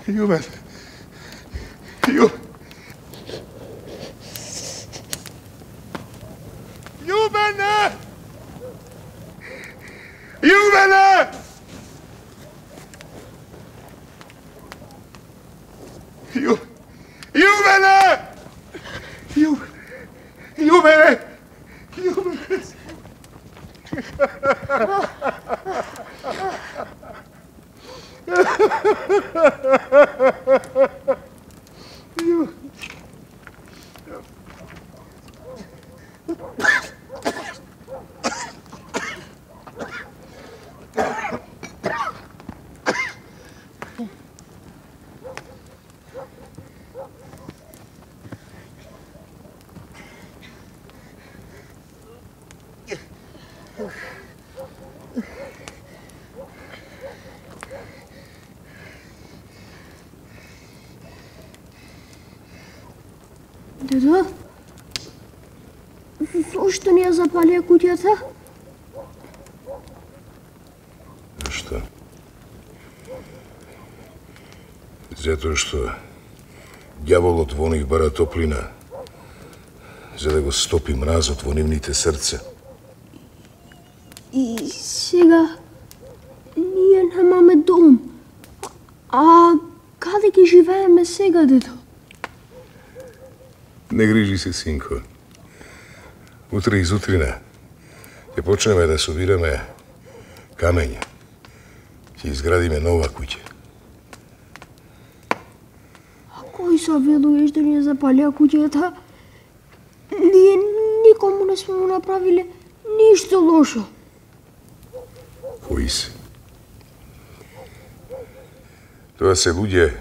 Ljubene. Ljubene! Ljubene! Ljubene! Ljubene! Ljubene! Дедо, зошто не ја запалија куќата? Што? Затоа што ѓаволот во них бара топлина, за да го стопи мразот во нивните срца. И сега ние немаме дом. А каде ги живееме сега, дедо? Не грижи се, синко. Утре изутрина ќе почнеме да собираме камења. Ќе изградиме нова куќа. А кој савелуваш да ни запалија куќата? Ние никому не сме му направиле ништо лошо. Кои се? Тоа се луѓе,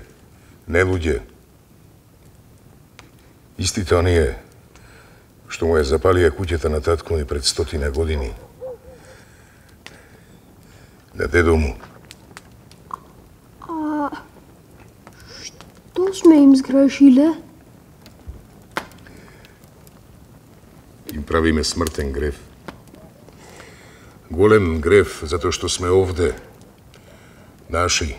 не луѓе. Истите оние што му ја запалија куќата на татко ми пред 100 години. На дедо му. А што сме им сгрешиле? Им правиме смртен грев. Голем грев затоа што сме овде, наши,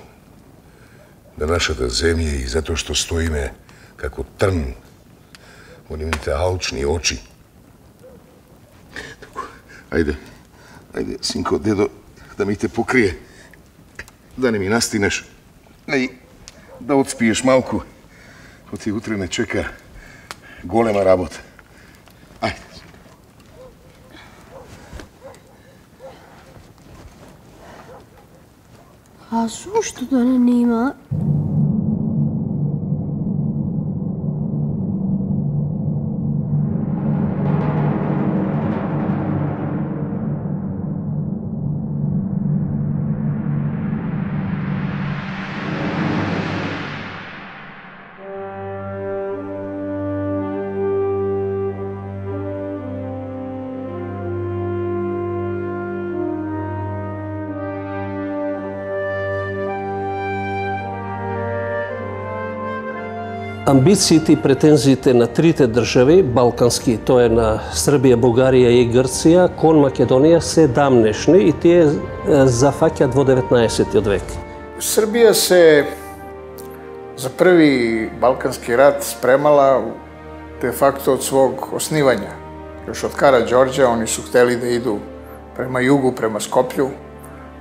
на нашата земја и затоа што стоиме како трн во нивните алчни очи. Ајде, синко, дедо, да ми те покрие. Да не ми настинеш. Да отспиеш малку. Оти утре не чека голема работа. Ајде. А зошто да не има? Амбициите и претензиите на трите држави, балкански, тоа е на Србија, Бугарија и Грција, кон Македонија се дамнешни и тие зафаќаат во 19 век. Србија се за први балкански рат спремала де факто од свог оснивања. Још од Караџорџа они су хтели да иду према југу, према Скопју,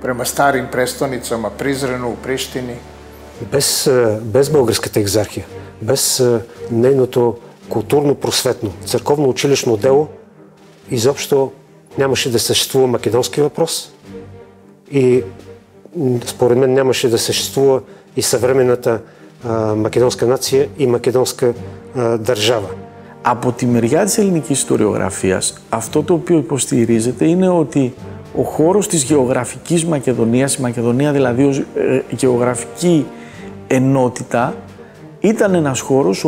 према старим престоницама Призрену, Приштини. Без Българската екзархија, без нейното културно-просветно, црковно-училишно дело, изобщо нямаше да съществува македонски въпрос и според мен нямаше да съществува и съвременната македонска нация и македонска държава. Από τη μεριά της ελληνικής ιστοριογραφίας, αυτό το οποίο υποστηρίζεται είναι ότι ο χώρος της γεωγραφικής Μακεδονίας, η Μακεδονία δηλαδή ως γεωγραφική ενότητα, ήταν ένας χώρος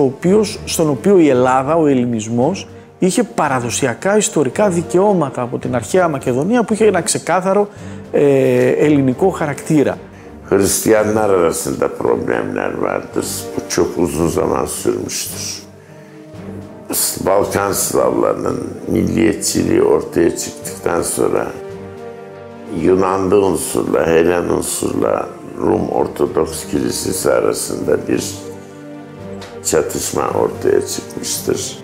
στον οποίο η Ελλάδα, ο ελληνισμός, είχε παραδοσιακά ιστορικά δικαιώματα από την αρχαία Μακεδονία που είχε ένα ξεκάθαρο ελληνικό χαρακτήra. Hristiyanlar arasında problemler vardır. Bu çok uzun zaman sürmüştür. Balkan Slavlarının milliyetçiliği ortaya çıktıktan sonra Yunanlı unsurla, Helen unsurla Rum Ortodoks Kilisesi arasında bir çatışma ortaya çıkmıştır.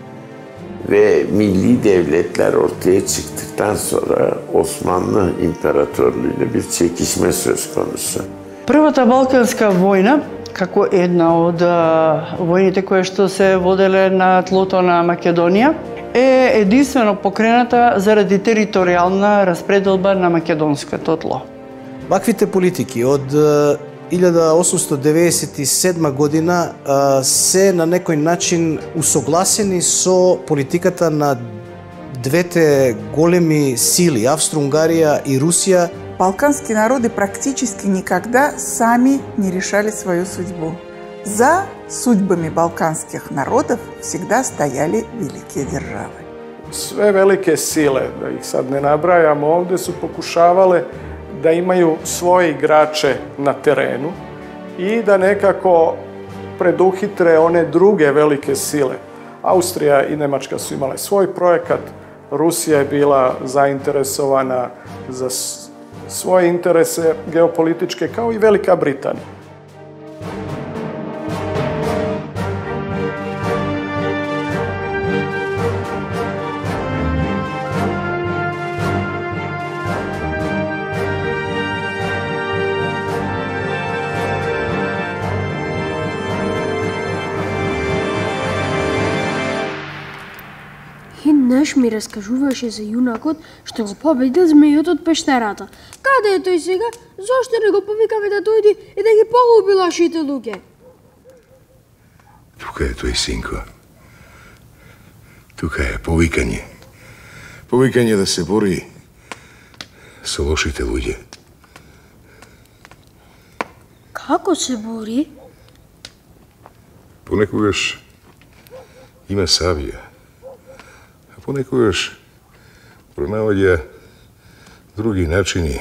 Ve milli devletler ortaya çıktıktan sonra Osmanlı İmparatorluğu'yla bir çekişme söz konusu. Првата Балканска војна, како една од војните кои што се воделе на тлото на Македонија, е единствено покрената заради територијална распределба на македонското тло. Ваквите политики од 1897 година се на некој начин усогласени со политиката на двете големи сили, Австро-Унгарија и Русија. Балканские народы практически никогда сами не решали свою судьбу. За судьбами балканских народов всегда стояли великие державы. Sve velike sile, da ih sad ne nabrajamo ovde, su pokušavale da imaju svoje igrače na terenu i da nekako preduhitre one druge velike sile. Austrija i Nemačka su imale svoj projekat, Rusija je bila zainteresovana za svoje interese geopolitičke, kao i Velika Britanija. Еднаш ми раскажуваше за јунакот што го победил змејот од пештерата. Каде е тој сега? Зошто не го повикаме да дојди и да ги погуби лошите луѓе? Тука е тој, синко. Тука е повикање. Повикање да се бори со лошите луѓе. Како се бори? Понекогаш има сабија. Понекогаш пронаоѓа други начини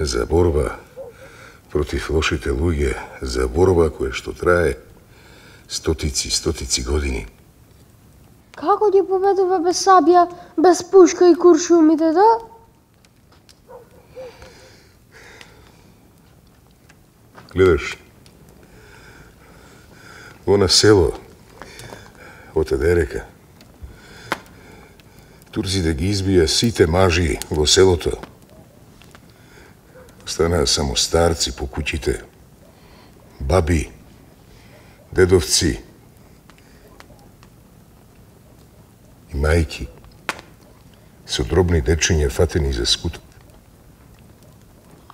за борба против лошите луѓе, за борба која што трае стотици години. Како ги победува без сабја, без пушка и куршумите, да? Гледаш, во на село, од Едерека, турците ги избија сите мажи во селото. Останаа само старци по куќите, баби, дедовци и мајки со дробни дечиња фатени за скуток.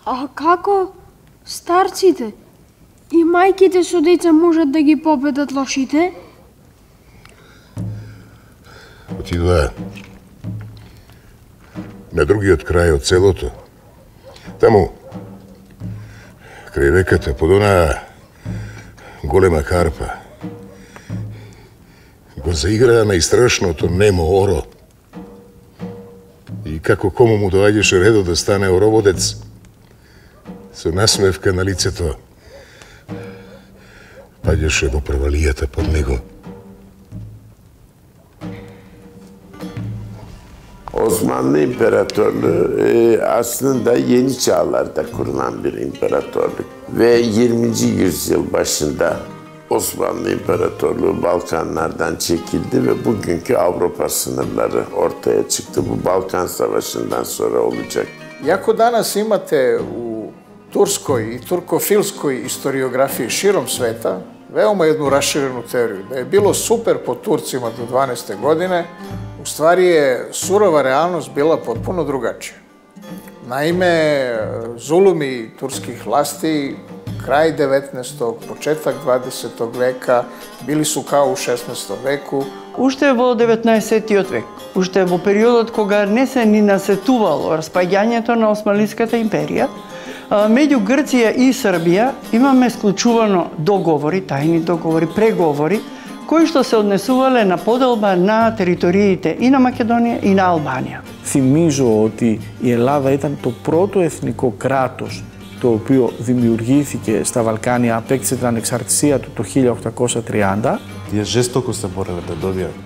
А како старците и мајките со деца можат да ги победат лошите? Отидоа на другиот крај од селото. Таму, крај реката, под онаа голема карпа, го заиграа најстрашното немо оро. И како кому му доаѓаше редо да стане ороводец, со насмевка на лицето, паѓаше во провалијата под него. Osmanlı İmparatorluğu aslında yeni çağlarda kurulan bir imparatorluk ve 20. yüzyıl başında Osmanlı İmparatorluğu Balkanlardan çekildi ve bugünkü Avrupa sınırları ortaya çıktı. Bu Balkan Savaşı'ndan sonra olacak. Iako danas imate u turskoj i turkofilskoj istoriografiji širom sveta veoma jednu raširenu teoriju da je bilo super po Turcima do 12. godine, u stvari je surova realnost bila potpuno drugačija. Naime, zulumi turskih vlasti kraj 19. početak 20. veka bili su kao u 16. veku. Уште во 19-тиот век, уште во периодот кога не се ни насетувало распаѓањето на Османлиската империја, меѓу Грција и Србија имаме склучувано договори, тајни договори, преговори, кои што се однесувале на поделба на териториите и на Македонија и на Албанија. Θυμίζω ότι η Ελλάδα ήταν το πρώτο εθνικό κράτος το οποίο δημιουργήθηκε στα Βαλκάνια, απέκτησε την ανεξαρτησία του το 1830. Тие жестоко се бореле да добијат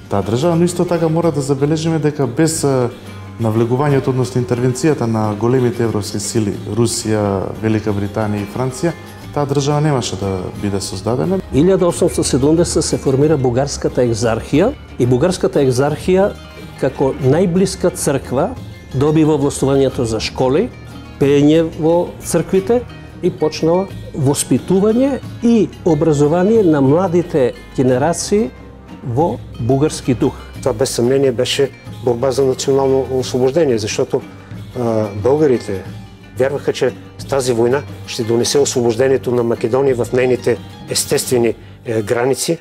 таа држава, но исто така мора да забележиме дека без навлегувањето, односно интервенцијата на големите европски сили, Русија, Велика Британија и Франција, таа држава немаше да биде создадена. 1870 се формира Бугарската екзархија и Бугарската екзархија како најблиска црква добива властувањето за школи, пеење во црквите и почнала воспитување и образование на младите генерации во бугарски дух. Това без съмнение беше борба за национално освобождение, защото българите вярваха, че с тази война ще донесе освобождението на Македония в нейните естествени граници.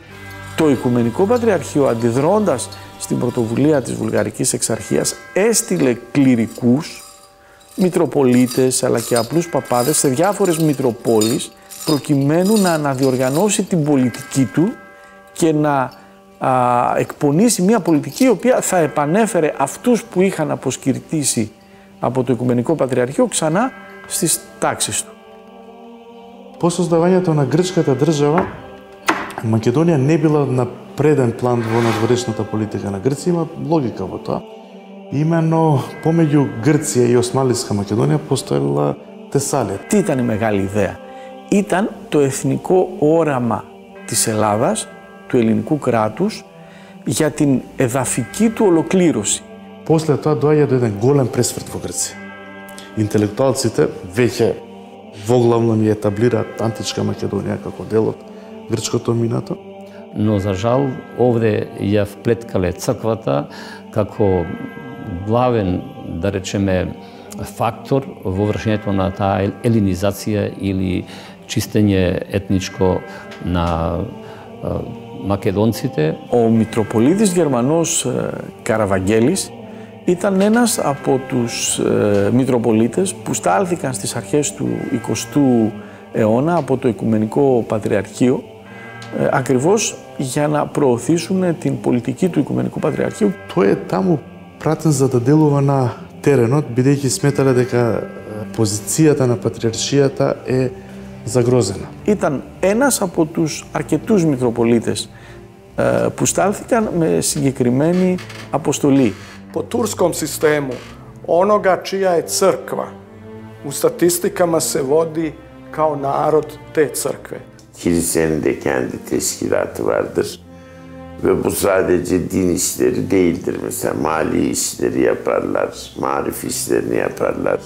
Το Οικουμενικό Πατριαρχείο, αντιδρώντας στην πρωτοβουλία της Βουλγαρικής Εξαρχίας, έστειλε κληρικούς, μητροπολίτες αλλά και απλούς παπάδες σε διάφορες μητροπόλεις προκειμένου να αναδιοργανώσει την πολιτική του και να εκπονήσει μια πολιτική η οποία θα επανέφερε αυτούς που είχαν αποσκυρτήσει από το Οικουμενικό Πατριαρχείο ξανά στις τάξεις του. По создавањето на грчката држава, Македонија не била на преден план во надворешната политика на Грција, има логика во тоа. Именно помеѓу Грција и Османлиска Македонија постоела Тесалија. Τι ήταν η μεγάλη ιδέα? Ήταν το εθνικό όραμα της Ελλάδας, του ελληνικού κράτους, για την εδαφική του ολοκλήρωση. После тоа доаѓа до еден голем пресврт во Грција. Интелектуалците веќе воглавно ни етаблираат античка Македонија како дел од грчкото минато. Но за жал овде ја вплеткале црквата како главен, да речеме, фактор во вршењето на таа елинизација или чистење етничко на μακεδόνците. Ο Μητροπολίτης Γερμανός Καραβαγγέλης ήταν ένας από τους Μητροπολίτες που στάλθηκαν στις αρχές του 20ου αιώνα από το Οικουμενικό Πατριαρχείο ακριβώς για να προωθήσουν την πολιτική του Οικουμενικού Πατριαρχείου. Тој е таму пратен за да делува на теренот, бидејќи сметале дека позицијата на патриаршијата е загрозена. Ήταν ένας από τους αρκετούς Μητροπολίτες που στάλθηκαν με συγκεκριμένη αποστολή. Po turskom sistemu, onoga čija je crkva, u statistikama se vodi kao narod te crkve. Kilisenin de kendi teşkilatı vardır. Ve bu sadece din işleri değildir. Mesela mali işleri yaparlar, marif işlerini yaparlar.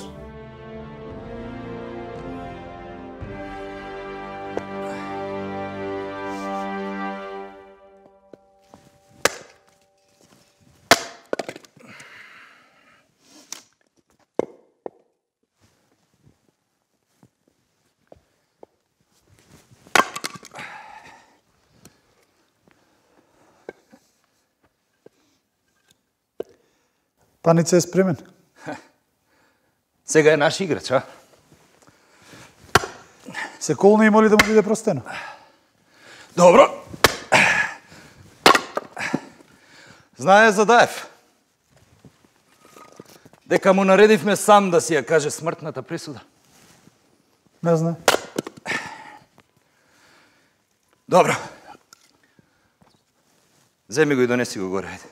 Паница е спремен. Сега е наш играч, а? Се колна има ли да му биде простено? Добро. Знае Задаев дека му наредивме сам да си ја каже смртната присуда. Не знае. Добро. Земи го и донеси го горе, ајде.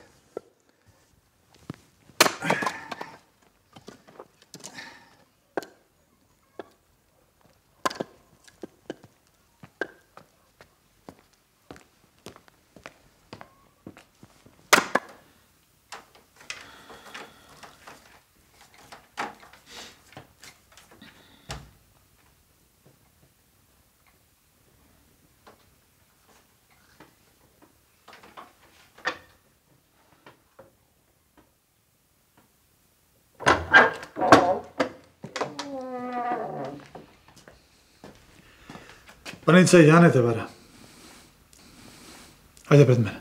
Паница, Јане те бара. Ајде пред мене.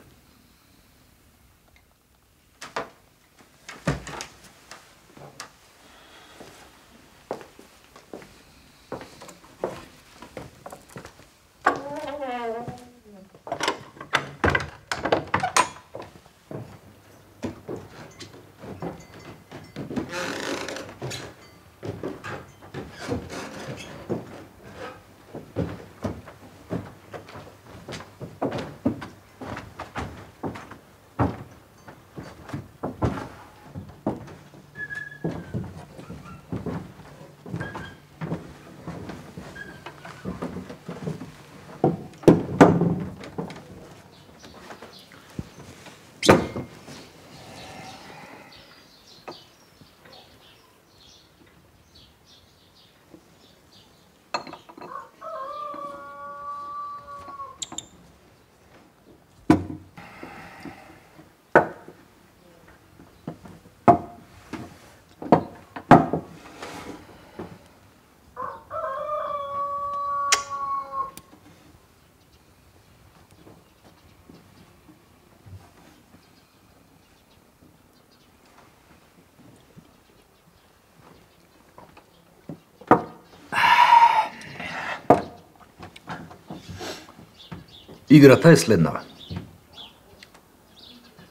Играта е следнава.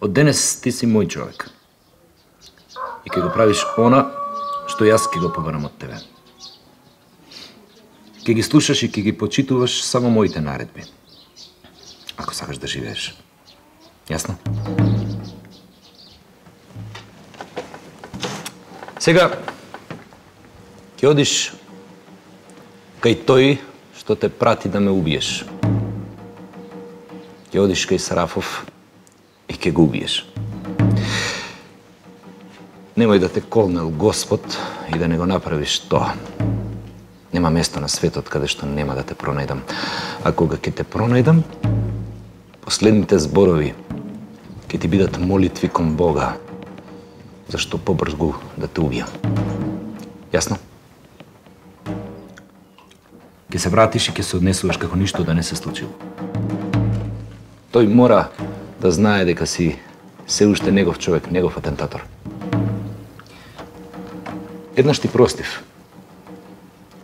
Од денес ти си мој човек. И ќе го правиш она што јас ќе го побарам од тебе. Ќе ги слушаш и ќе ги почитуваш само моите наредби. Ако сакаш да живееш. Јасно? Сега ќе одиш кај тој што те прати да ме убиеш. Ќе одиш кај Сарафов и ќе го убиеш. Немој да те колнел Господ и да не го направиш тоа. Нема место на светот каде што нема да те пронајдам. А кога ќе те пронајдам, последните зборови ќе ти бидат молитви кон Бога, зашто побрзо да те убијам. Јасно? Ќе се вратиш и ќе се однесуваш како ништо да не се случило. Тој мора да знае дека си се уште негов човек, негов атентатор. Еднаш ти простив.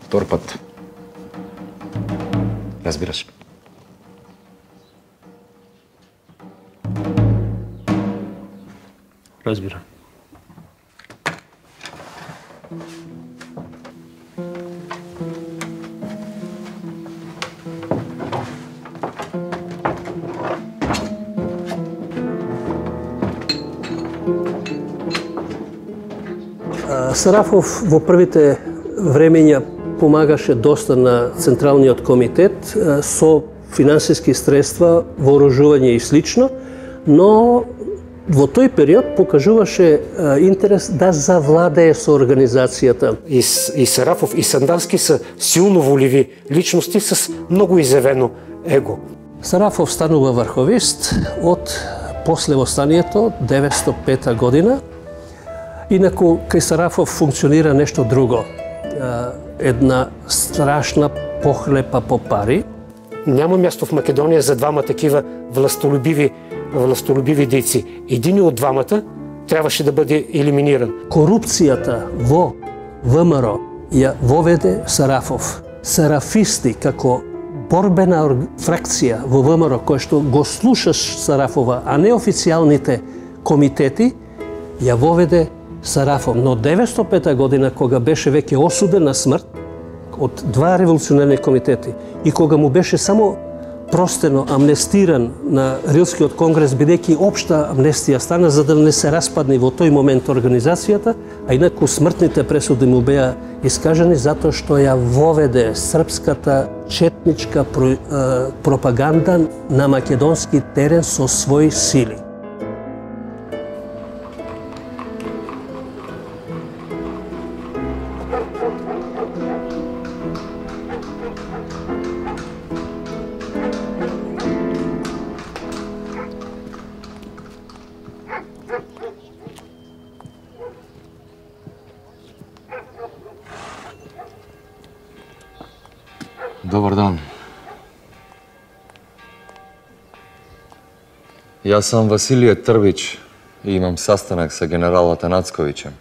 Втор пат. Разбираш? Разбирам. Сарафов во првите времења помагаше доста на Централниот комитет со финансиски средства, вооружување и слично, но во тој период покажуваше интерес да завладее со организацијата. И Сарафов и Сандански се силно воливи личности с многу изявено его. Сарафов станува врховист од после востанието 905 година. Инаку кај Сарафов функционира нешто друго. Една страшна похлепа по пари. Няма място в Македонија за двама такива властолюбиви дейци. Единиот од двамата требаше да биде елиминиран. Корупцијата во ВМРО ја воведе Сарафов. Сарафисти како борбена фракција во ВМРО која што го слушаш Сарафова, а не официјалните комитети, ја воведе Сарафов. Но 905 година, кога беше веќе осуден на смрт од два револуционерни комитети и кога му беше само простено амнестиран на Рилскиот конгрес, бидејќи општа амнестија стана за да не се распадне во тој момент организацијата, а инаку смртните пресуди му беа искажани затоа што ја воведе српската четничка пропаганда на македонски терен со своји сили. Добар дан. Јас сам Василије Трбич и имам састанак со генералот Нацковиќем.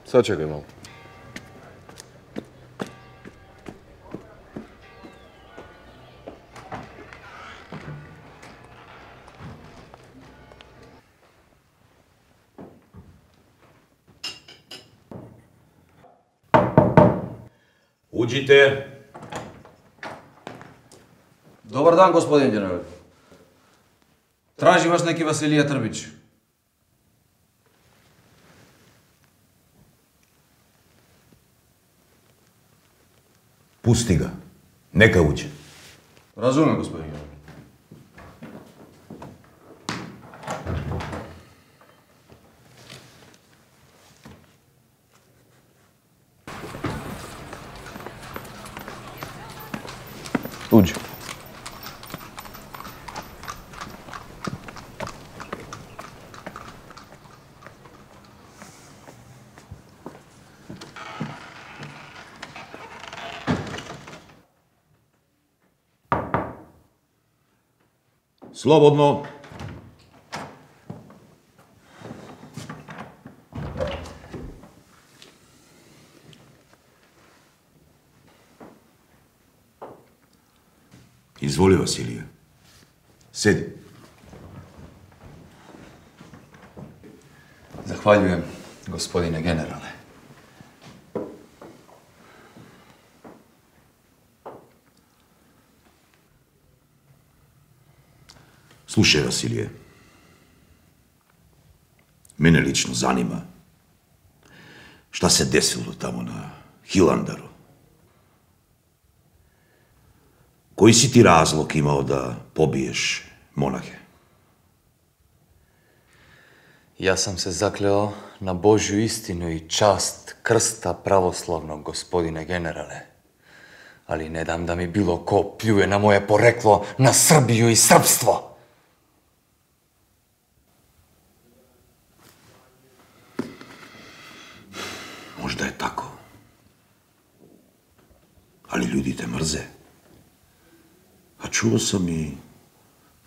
Сочекај малку. Уđite. Добар дан, господин генерал. Тражи вас неки Василија Трбич. Пусти ga. Нека уđe. Разумем, господин генерал. Uđi. Slobodno. Изволи, Василија. Седи. Захвалjujem, господине генерале. Слушај, Василије. Мене лично занима šta se desilo tamo na Hilandaru. Кој си ти разлог имао да побиеш монахе? Јас сам се заклео на Божју истину и част крста православnog, господине генерале. Али не дам да ми било ко плюе на моје порекло, на Србију и српство. Можда е тако. Али луѓе те мрзе. А чуo сам и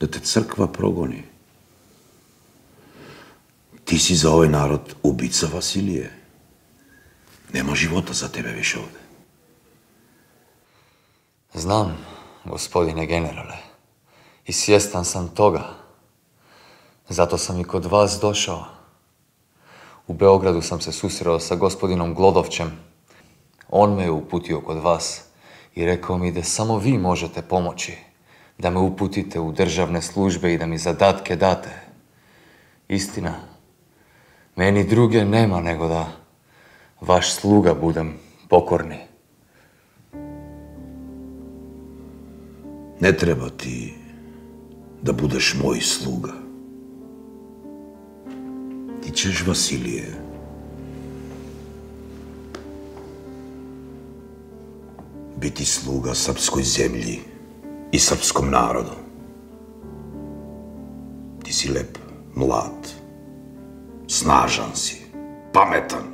да те црква прогони. Ти си за овој народ убица, Василије. Нема живота за тебе више овде. Знам, господине генерале, и свјестан сам тога. Зато сам и код вас дошao. У Београду сам се сусрeo sa господином Глодовчем. Он ме упутио код вас и рекao ми да само ви можете помоći, да ме упутите у државне службе и да ми задатке дате. Истина, мени друге нема него да ваш слуга будем покорни. Не треба ти да будеш мој слуга. Ти ćeš, Василије, biti sluga srpskoj zemlji i srpskom narodu. Ti si lep, mlad, snažan si, pametan.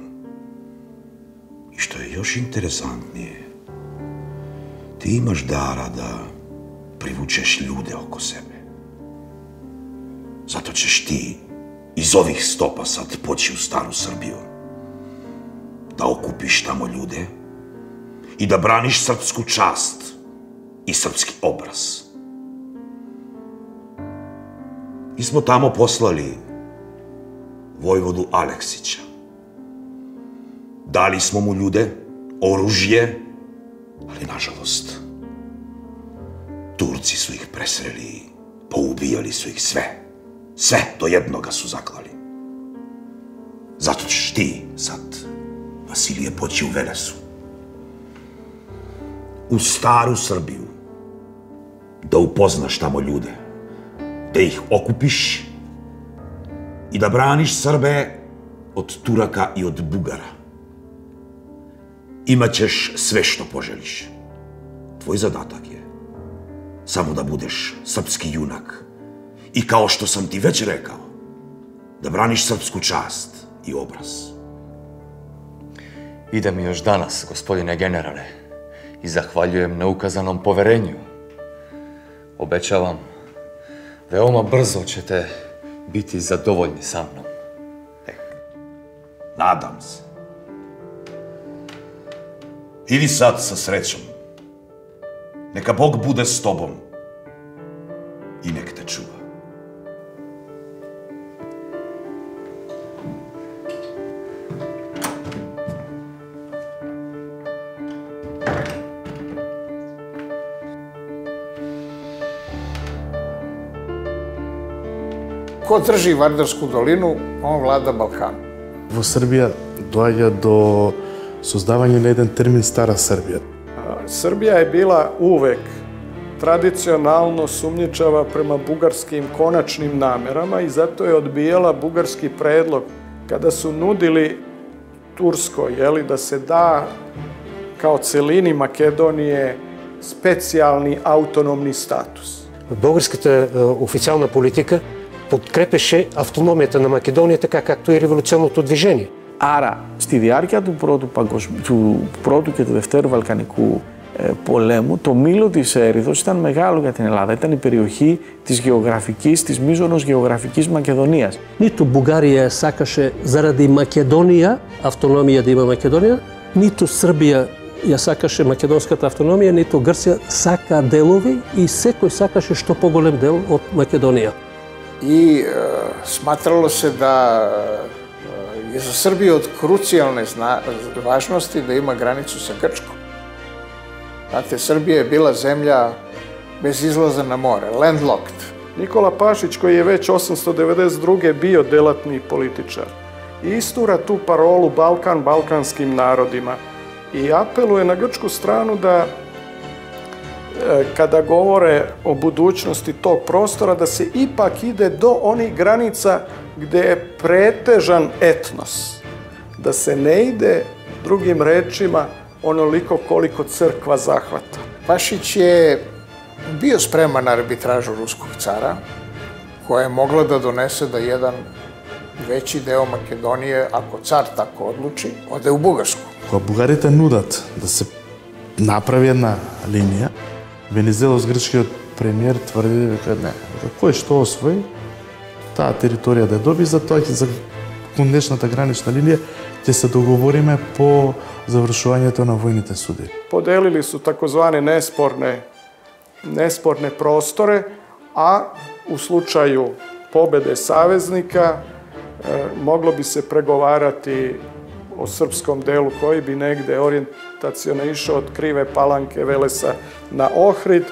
I što je još interesantnije, ti imaš dara da privučeš ljude oko sebe. Zato ćeš ti iz ovih stopa sad poći u staru Srbiju, da okupiš tamo ljude i da braniš srpsku čast i srpski obraz. Mi smo tamo poslali vojvodu Aleksića. Dali smo mu ljude, oružje, ali nažalost, Turci su ih presreli i poubijali su ih sve. Sve do jednoga su zaklali. Zato ćeš ti sad, Vasilije, poći u Velesu. U staru Srbiju. Da upoznaš tamo ljude. Da ih okupiš i da braniš Srbe od Turaka i od Bugara. Imaćeš sve što poželiš. Tvoj zadatak je samo da budeš srpski junak. I kao što sam ti već rekao, da braniš srpsku čast i obraz. Idem još danas, gospodine generale, i zahvaljujem na ukazanom poverenju. Obećavam, veoma brzo ćete biti zadovoljni sa mnom. Nadam se. Idi sad sa srećom. Neka Bog bude s tobom i nek te čuva. Ko drži Vardarsku dolinu, on vlada Balkanom. Во Србија доаѓа до создавање на еден термин Стара Србија. Srbija je bila uvek tradicionalno sumnjičava prema bugarskim konačnim namerama i zato je odbijala bugarski predlog kada su nudili Turskoj, da se da kao celini Makedonije specijalni autonomni status. Българската официална политика подкрепеше автономията на Македония, така както и революционното движение. Άρα, στη διάρκεια του πρώτου και του δευτέρου Βαλκανικού πολέμου, το μήλο της έρηδος ήταν μεγάλο για την Ελλάδα. Ήταν η περιοχή της μείζωνος γεωγραφικής Μακεδονίας. Ниту Бугарија сакаше заради Македонија, автономија да има Македонија, ниту Србија ја сакаше македонската автономија, ниту Грција сака делови и секој сакаше што поголем дел од Македонија. И сматрало се да е за Србија од круцијалне важности да има границу со Грчком. Знате, Србија е била земја без излаза на море, landlocked. Никола Пашиć, кој je već 892. bio delatni političar, istura tu parolu Balkan balkanskim narodima i apeluje na grčku stranu da kada govore o budućnosti tog prostora, da se ipak ide do onih granica gde je pretežan etnos. Da se ne ide, drugim rečima, onoliko koliko crkva zahvata. Pašić je bio spreman na arbitražu ruskog cara, koja je mogla da donese da jedan veći deo Makedonije, ako car tako odluči, ode u Bugarsku. Кога бугарите нудат да се направи една линија, Венизелос, грчкиот премиер, тврди дека не, кој што освои, таа територија да ја доби, за тоа за кондечната гранична линија ќе се договориме по завршувањето на војните суди. Поделили su takozvane nesporne prostore, a u slučaju pobede saveznika moglo bi se pregovarati o srpskom delu koji bi negde orijentaciono išao od Krive Palanke, Velesa na Ohrid.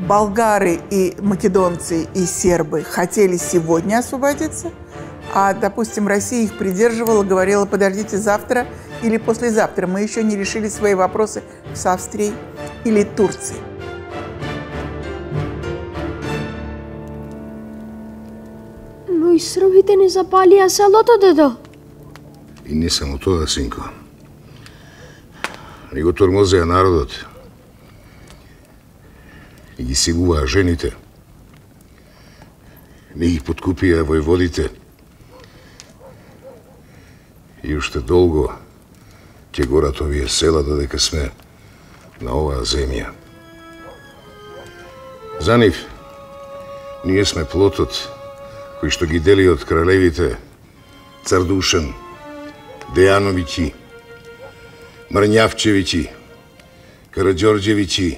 Болгары и македонцы и сербы хотели сегодня освободиться, а, допустим, Россия их придерживала, говорила: подождите завтра или послезавтра, мы еще не решили свои вопросы с Австрией или Турцией. Но и србите не запалија селото, дедо. И не само тоа, синко. Ни го тормозеа народот. И ги силуваа жените. Не ги подкупија војводите. И уште долго ќе горат овие села додека сме на оваа земја. За нив, ние сме плотот кој што ги дели од кралевите цар Душан, Дејановиќи, Мрњавчевиќи, Караѓорđевиќи,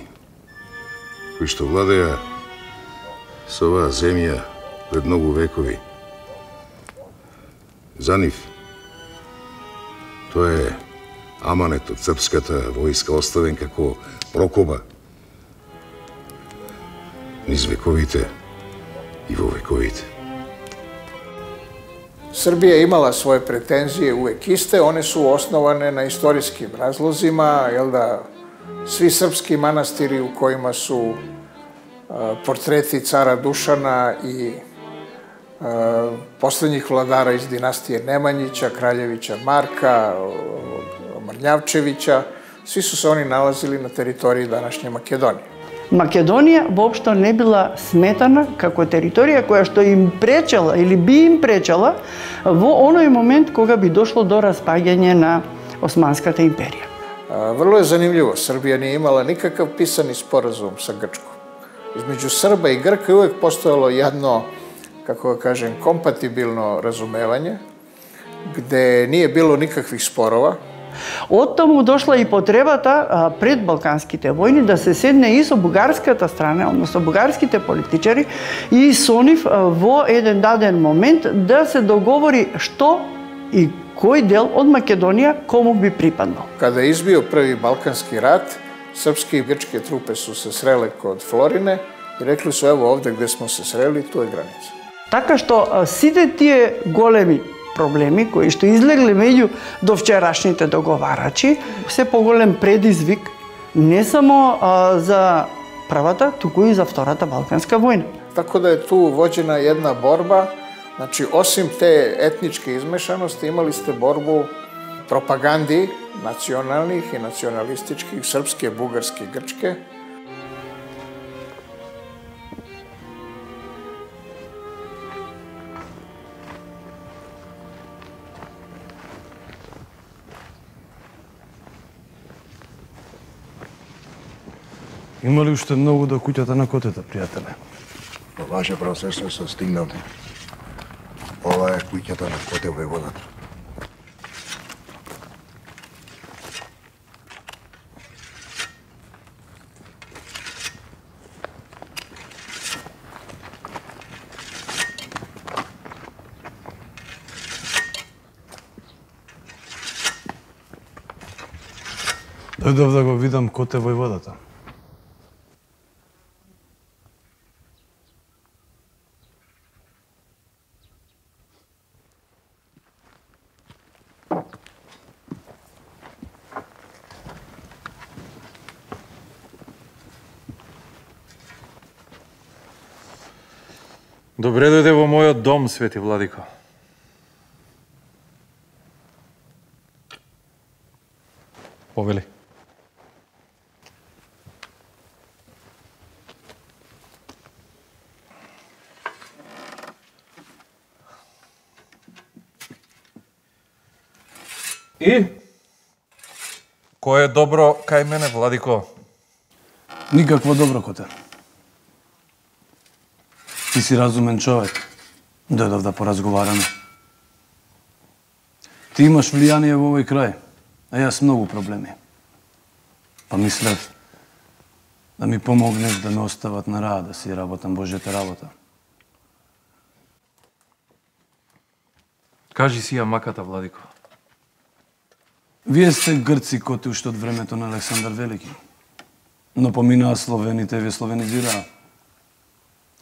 кои што владеа со оваа земја пред многу векови. За нив, тоа е аманет од српската војска оставен како прокоба низ вековите и во вековите. Srbija je imala svoje pretenzije uvek iste, one su osnovane na istorijskim razlozima, jel da, svi srpski manastiri u kojima su portreti cara Dušana i poslednjih vladara iz dinastije Nemanjića, Kraljevića Marka, Mrnjavčevića, svi su se oni nalazili na teritoriji današnje Makedonije. Македонија воопшто не била сметана како територија која што им пречела или би им пречела во оној момент кога би дошло до распаѓање на Османската империја. Vrlo je zanimljivo, Srbija nije imala nikakav pisani sporazum sa Grčkom. Između Srba i Grka je uvek postojalo jedno, kako ga kažem, kompatibilno razumevanje, gde nije bilo nikakvih sporova. Од таму дошла и потребата пред балканските војни да се седне и со бугарската страна, односно бугарските политичари, и со нив во еден даден момент да се договори што и кој дел од Македонија кому би припаднал. Kada je izbio prvi Balkanski rat, srpske i grčke trupe su se srele kod Florine i rekli su: evo ovde gde smo se sreli, tu je granica. Така што сите тие големи проблеми кои што излегле меѓу довчерашните договарачи, се поголем предизвик не само за првата, туку и за втората Балканска војна. Tako da je tu vođena jedna borba, znači osim te etničke izmešanosti imali ste borbu propagandi nacionalnih i nacionalističkih, srpske, bugarske, grčke. Има ли уште многу до куќата на котета, пријателе? Ваше правосвещство се стигнал. Ова е куќата на коте војводата. Дојдов да го видам кој е војводата. Добре дојде во мојот дом, свети владико. Повели. И? Кој е добро кај мене, владико? Никакво добро, коте. Ти си разумен човек. Дојдов да поразговараме. Ти имаш влијание во овој крај, а јас многу проблеми. Па мислев да ми помогнеш да ме остават на рад, да си работам Божјата работа. Кажи си ја маката, владико. Вие сте грци коти уште од времето на Александар Велики. Но поминаа словените и ве словенизираа.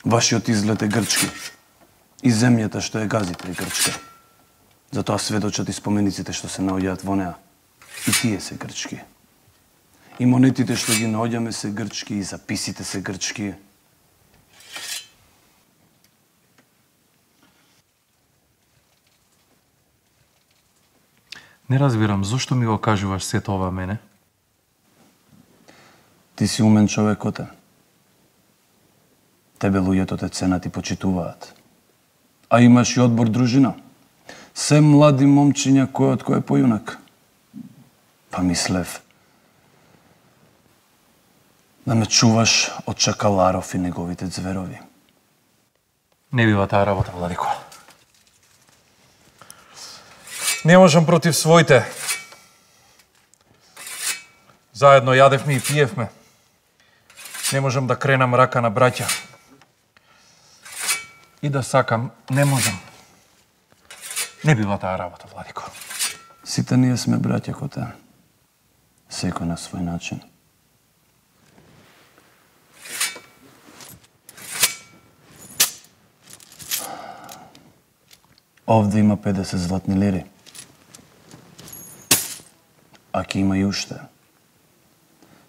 Вашиот изглед е грчки. И земјата што ја газите е грчка. Затоа сведочат и спомениците што се наоѓаат во неа. И тие се грчки. И монетите што ги наоѓаме се грчки, и записите се грчки. Не разбирам, зошто ми го кажуваш сето ова мене? Ти си умен човек, коте. Тебе луѓето те ценат и почитуваат. А имаш и одбор дружина. Се млади момчиња кој од кој е појунак. Па мислев да ме чуваш од чакаларов и неговите зверови. Не бива таа работа, владико. Не можам против своите. Заедно јадевме и пиевме. Не можам да кренам рака на браќа. И да сакам, не можам. Не бива таа работа, владико. Сите ние сме браќа, коте. Секој на свој начин. Овде има 50 златни лири. А ке има и уште.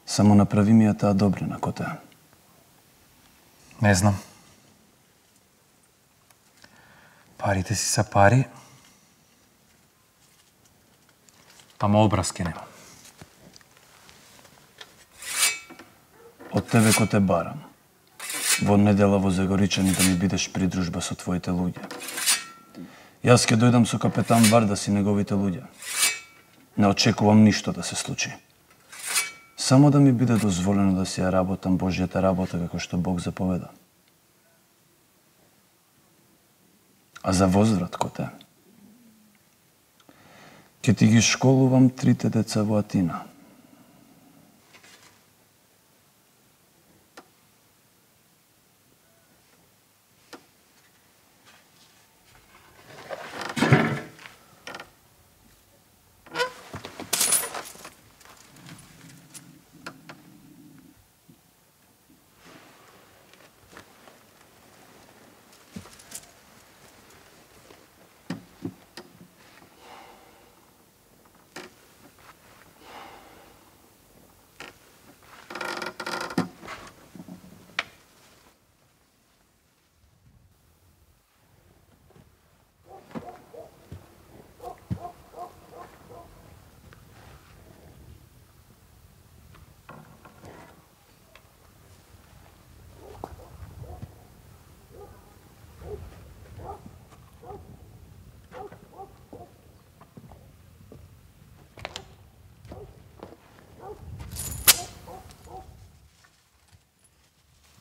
Само направи ми ја таа добрина, коте. Не знам. Парите си са пари, ама образки нема. Од тебе коте барам. Во недела во Загоричани да ми бидеш придружба со твоите луѓе. Јас ќе дојдам со капетан Вардас и неговите луѓе. Не очекувам ништо да се случи. Само да ми биде дозволено да си ја работам Божјата работа како што Бог заповеда. А за возврат, коте, ќе ти ги школувам 3 деца во Атина.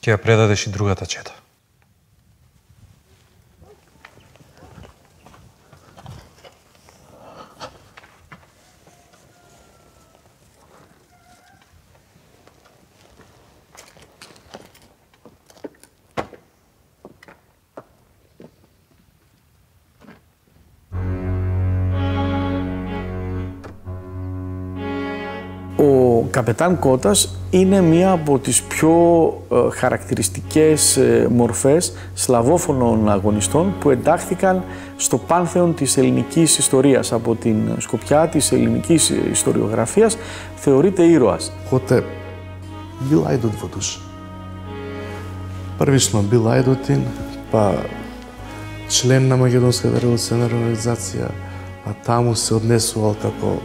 Ќе ја предадеш и другата чета. Καπετάν Κώτας είναι μία από τις πιο χαρακτηριστικές μορφές σλαβόφωνων αγωνιστών που εντάχθηκαν στο πάνθεον της ελληνικής ιστορίας. Από την σκοπιά της ελληνικής ιστοριογραφίας θεωρείται ήρωας. Коте бил ајдот во душа. Првично бил ајдотин, па член на Македонската револуционарна организација, а таму се однесувал како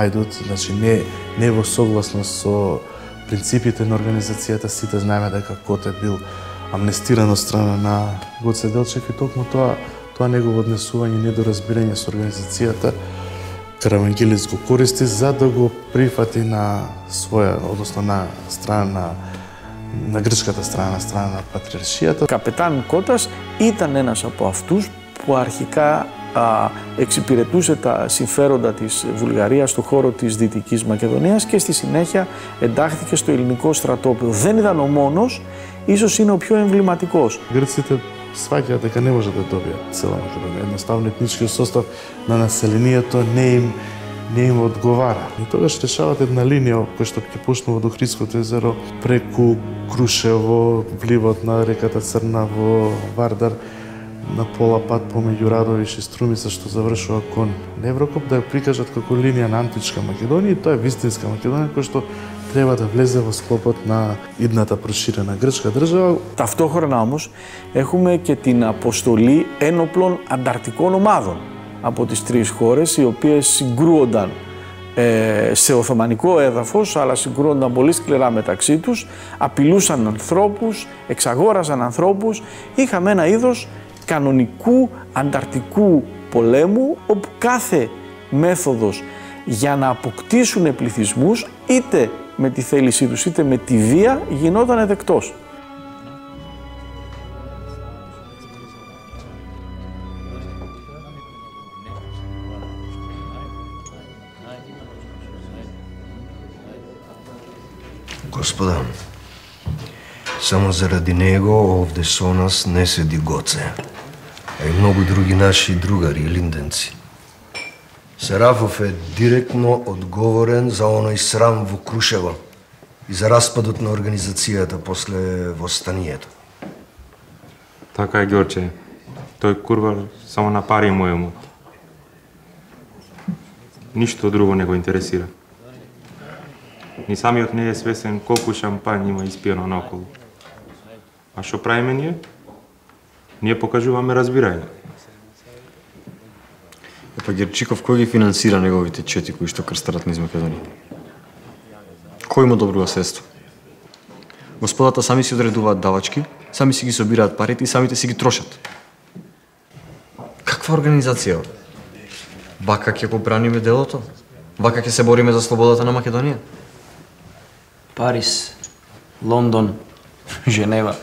ајдот, значи не во согласност со принципите на организацијата. Сите знаеме дека Коте бил амнестиран од страна на Гоце Делчев и токму тоа негово однесување, недоразбирање со организацијата, Каравангелис го користи за да го прифати на своја, односно на страна на грчката страна на πατριαρχията. Καπετάν Κώτας ήταν ένας από αυτούς που αρχικά εξυπηρετούσε τα συμφέροντα της Βουλγαρίας στο χώρο της Δυτικής Μακεδονίας και στη συνέχεια εντάχθηκε στο ελληνικό στρατόπεδο. Δεν ήταν ο μόνος, ίσως είναι ο πιο εμβληματικός. Грците сваќаат дека не може да добијат цела Македонија. Едноставно етничкиот состав на населението не им одговара. И тогаш решават една линија која што ќе почнува до Охридското езеро преку Крушево, вливот на реката Црна во Вардар, на пола пат помеѓу Радовиш и Струмица што завршува кон Неврокоп, да ја прикажат како линија на античка Македонија и тоа е вистинска Македонија која што треба да влезе во склопот на идната проширена грчка држава. Ταυτόχρονα όμως έχουμε και την αποστολή ένοπλων ανταρτικών ομάδων από τις τρεις χώρες, οι οποίες συγκρούονταν σε οθωμανικό έδαφος, αλλά συγκρούονταν πολύ σκληρά μεταξύ τους, απειλούσαν ανθρώπους, εξαγόραζαν ανθρώπους. Είχαμε ένα είδος κανονικού ανταρτικού πολέμου, όπου κάθε μέθοδος για να αποκτήσουν πληθυσμούς, είτε με τη θέλησή τους είτε με τη βία, γινόταν δεκτός. Господа, само заради него овде со нас не седи Гоце, а и многу други наши другари и линденци. Серафов е директно одговорен за оној срам во Крушево и за распадот на организацијата после востанието. Така е, Ѓорче. Тој курвар само на пари му емот. Ништо друго не го интересира. Ни самиот не е свесен колку шампањ има испиено наоколу. А што правиме ние? Ние покажуваме разбирање. Епа Герчиков, кој ги финансира неговите чети кои што крстарат низ Македонија? Кој му добрува средство? Господата сами си одредуваат давачки, сами си ги собираат парите и самите си ги трошат. Каква организација? Вака ќе го браниме делото? Вака ќе се бориме за слободата на Македонија? Париз, Лондон, Женева,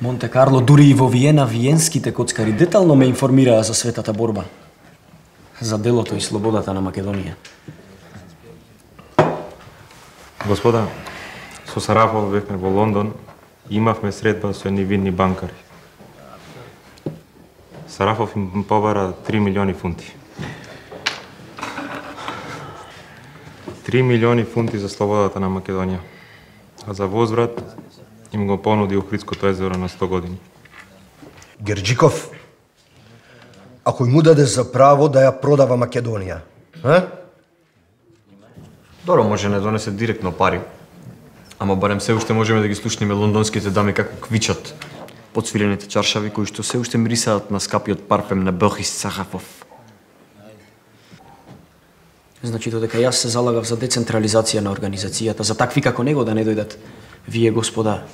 Монте Карло, дури и во Виена виенските коцкари детално ме информираа за светата борба, за делото и слободата на Македонија. Господа, со Сарафов бевме во Лондон и имавме средба со невинни банкари. Сарафов им побара 3 милиони фунти. 3 милиони фунти за слободата на Македонија, а за возврат им го понуди Охридското езеро на 100 години. Герджиков, а кој му даде за право да ја продава Македонија? Добро, може не донесе директно пари, ама барем се уште можеме да ги слушнеме лондонските дами како квичат подсвилените чаршави кои што се уште мирисаат на скапиот парфем на Бохис Сахафов. Значи додека јас се залагав за децентрализација на организацијата, за такви како него да не дојдат, вие, господа,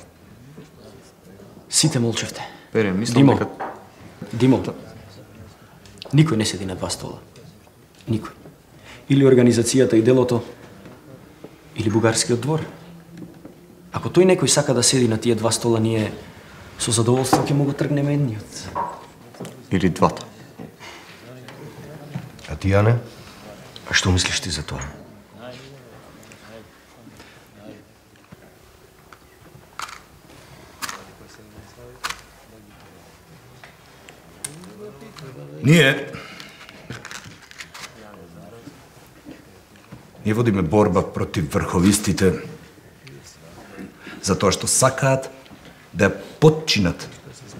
сите молчевте. Пере, мислам дека... Димо, никој не седи на два стола. Никој. Или организацијата и делото, или бугарскиот двор. Ако тој некој сака да седи на тие два стола, ние со задоволство ќе му го тргнеме едниот. Или двата. А ти, Јане? А што мислиш ти за тоа? Ние Ние водиме борба против врховистите затоа што сакаат да ја потчинат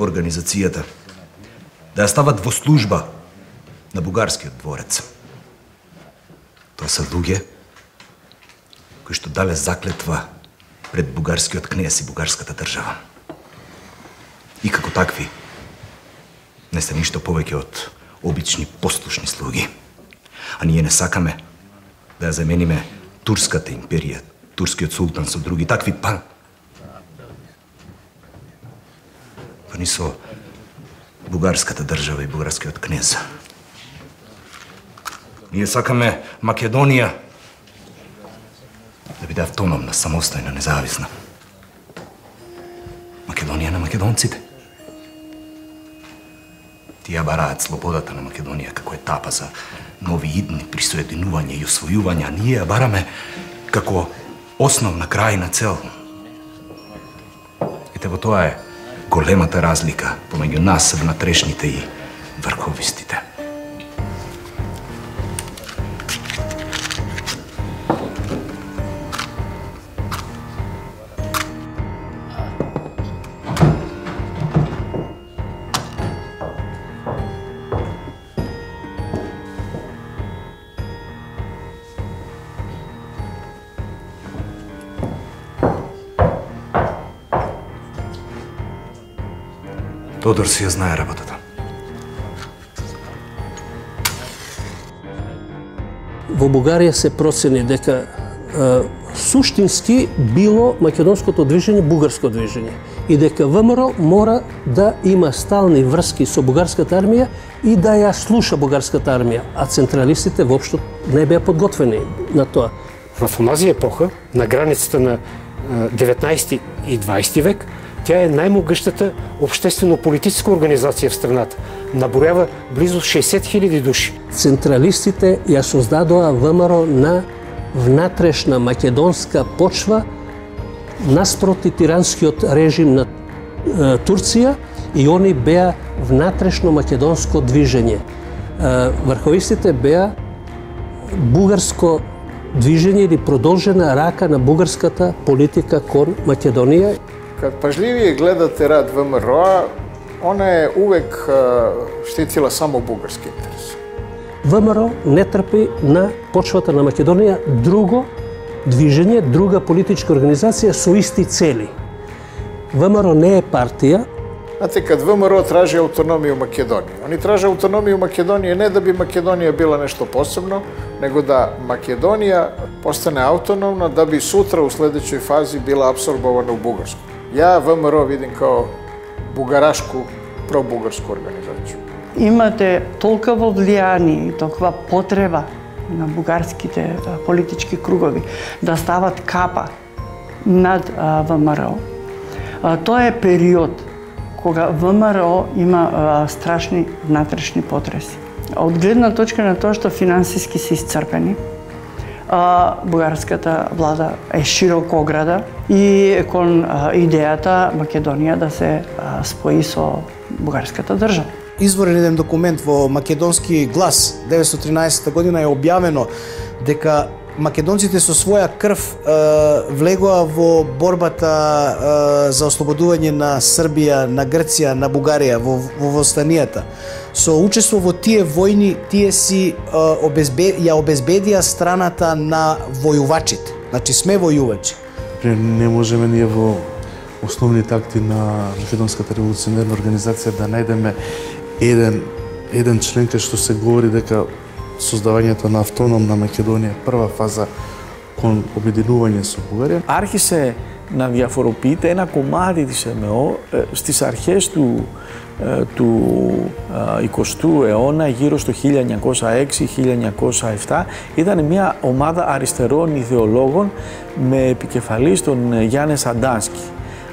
организацијата, да ја стават во служба на бугарскиот дворец. Тоа се луѓе кои што дале заклетва пред бугарскиот кнез и бугарската држава. И како такви не се ништо повеќе од обични послушни слуги. А ние не сакаме да ја замениме турската империја, турскиот султан со други такви, па ни со бугарската држава и бугарскиот кнез. Ние сакаме Македонија да биде автономна, самостојна, независна. Македонија на македонците. Тие бараат слободата на Македонија како етапа за нови идни присоединување и освојување, а ние ја бараме како основна крајна цел. Ете во тоа е големата разлика помеѓу нас, внатрешните и врховистите. Тодор си ја знае работата. Во Бугарија се процени дека суштински било македонското движење бугарско движење и дека ВМРО мора да има стални врски со бугарската армија и да ја слуша бугарската армија, а централистите воопшто не беа подготвени на тоа. В оназија епоха, на границата на 19 и 20 век, тя е најмогъщата обществено-политическа организација в страната. Набројава близу 60.000 души. Централистите ја создадоа ВМРО на внатрешна македонска почва наспроти тиранскиот режим на Турција и они беа внатрешно македонско движење. Врховистите беа бугарско движење или продолжена рака на бугарската политика кон Македонија. Kad pažljivije gledate rad ВМРО, ona je uvek štitila samo bugarski interes. ВМРО не трпи на почвата на Македонија друго движење, друга политичка организација со исти цели. ВМРО не е партија. Znate, kad ВМРО traži autonomiju Makedonije, oni traže autonomiju Makedonije ne da bi Makedonija bila nešto posebno, nego da Makedonija postane autonomna da bi sutra u sledećoj fazi bila apsorbovana u Bugarsku. Ja ВМРО vidim kao bugarašku, pro-bugarsku organizaciju. Имате толкова влијание и толкова потреба на бугарските политички кругови да стават капа над ВМРО. Тоа е период кога ВМРО има страшни внатрешни потреси. Од гледна точка на тоа што финансиски се исцрпени, бугарската влада е широкограда и кон идејата Македонија да се спои со бугарската држава. Изворен еден документ во Македонски глас 1913 година е објавено дека македонците со своја крв влегоа во борбата за ослободување на Србија, на Грција, на Бугарија, во востанијата. Со учество во тие војни, тие си ја обезбедија страната на војувачите. Значи сме војувачи. Не можеме ние во основните акти на Македонската револуционерна организација да најдеме еден член кај што се говори дека создавањето на автономна Македонија прва фаза кон обединување со Бугарија. Άρχισε να διαφοροποιείται ένα κομμάτι της ΕΜΕΟ στις αρχές του 20ου αιώνα, γύρω στο 1906-1907. Ήταν μια ομάδα αριστερών ιδεολόγων με επικεφαλής τον Γιάννη Σαντάνσκι.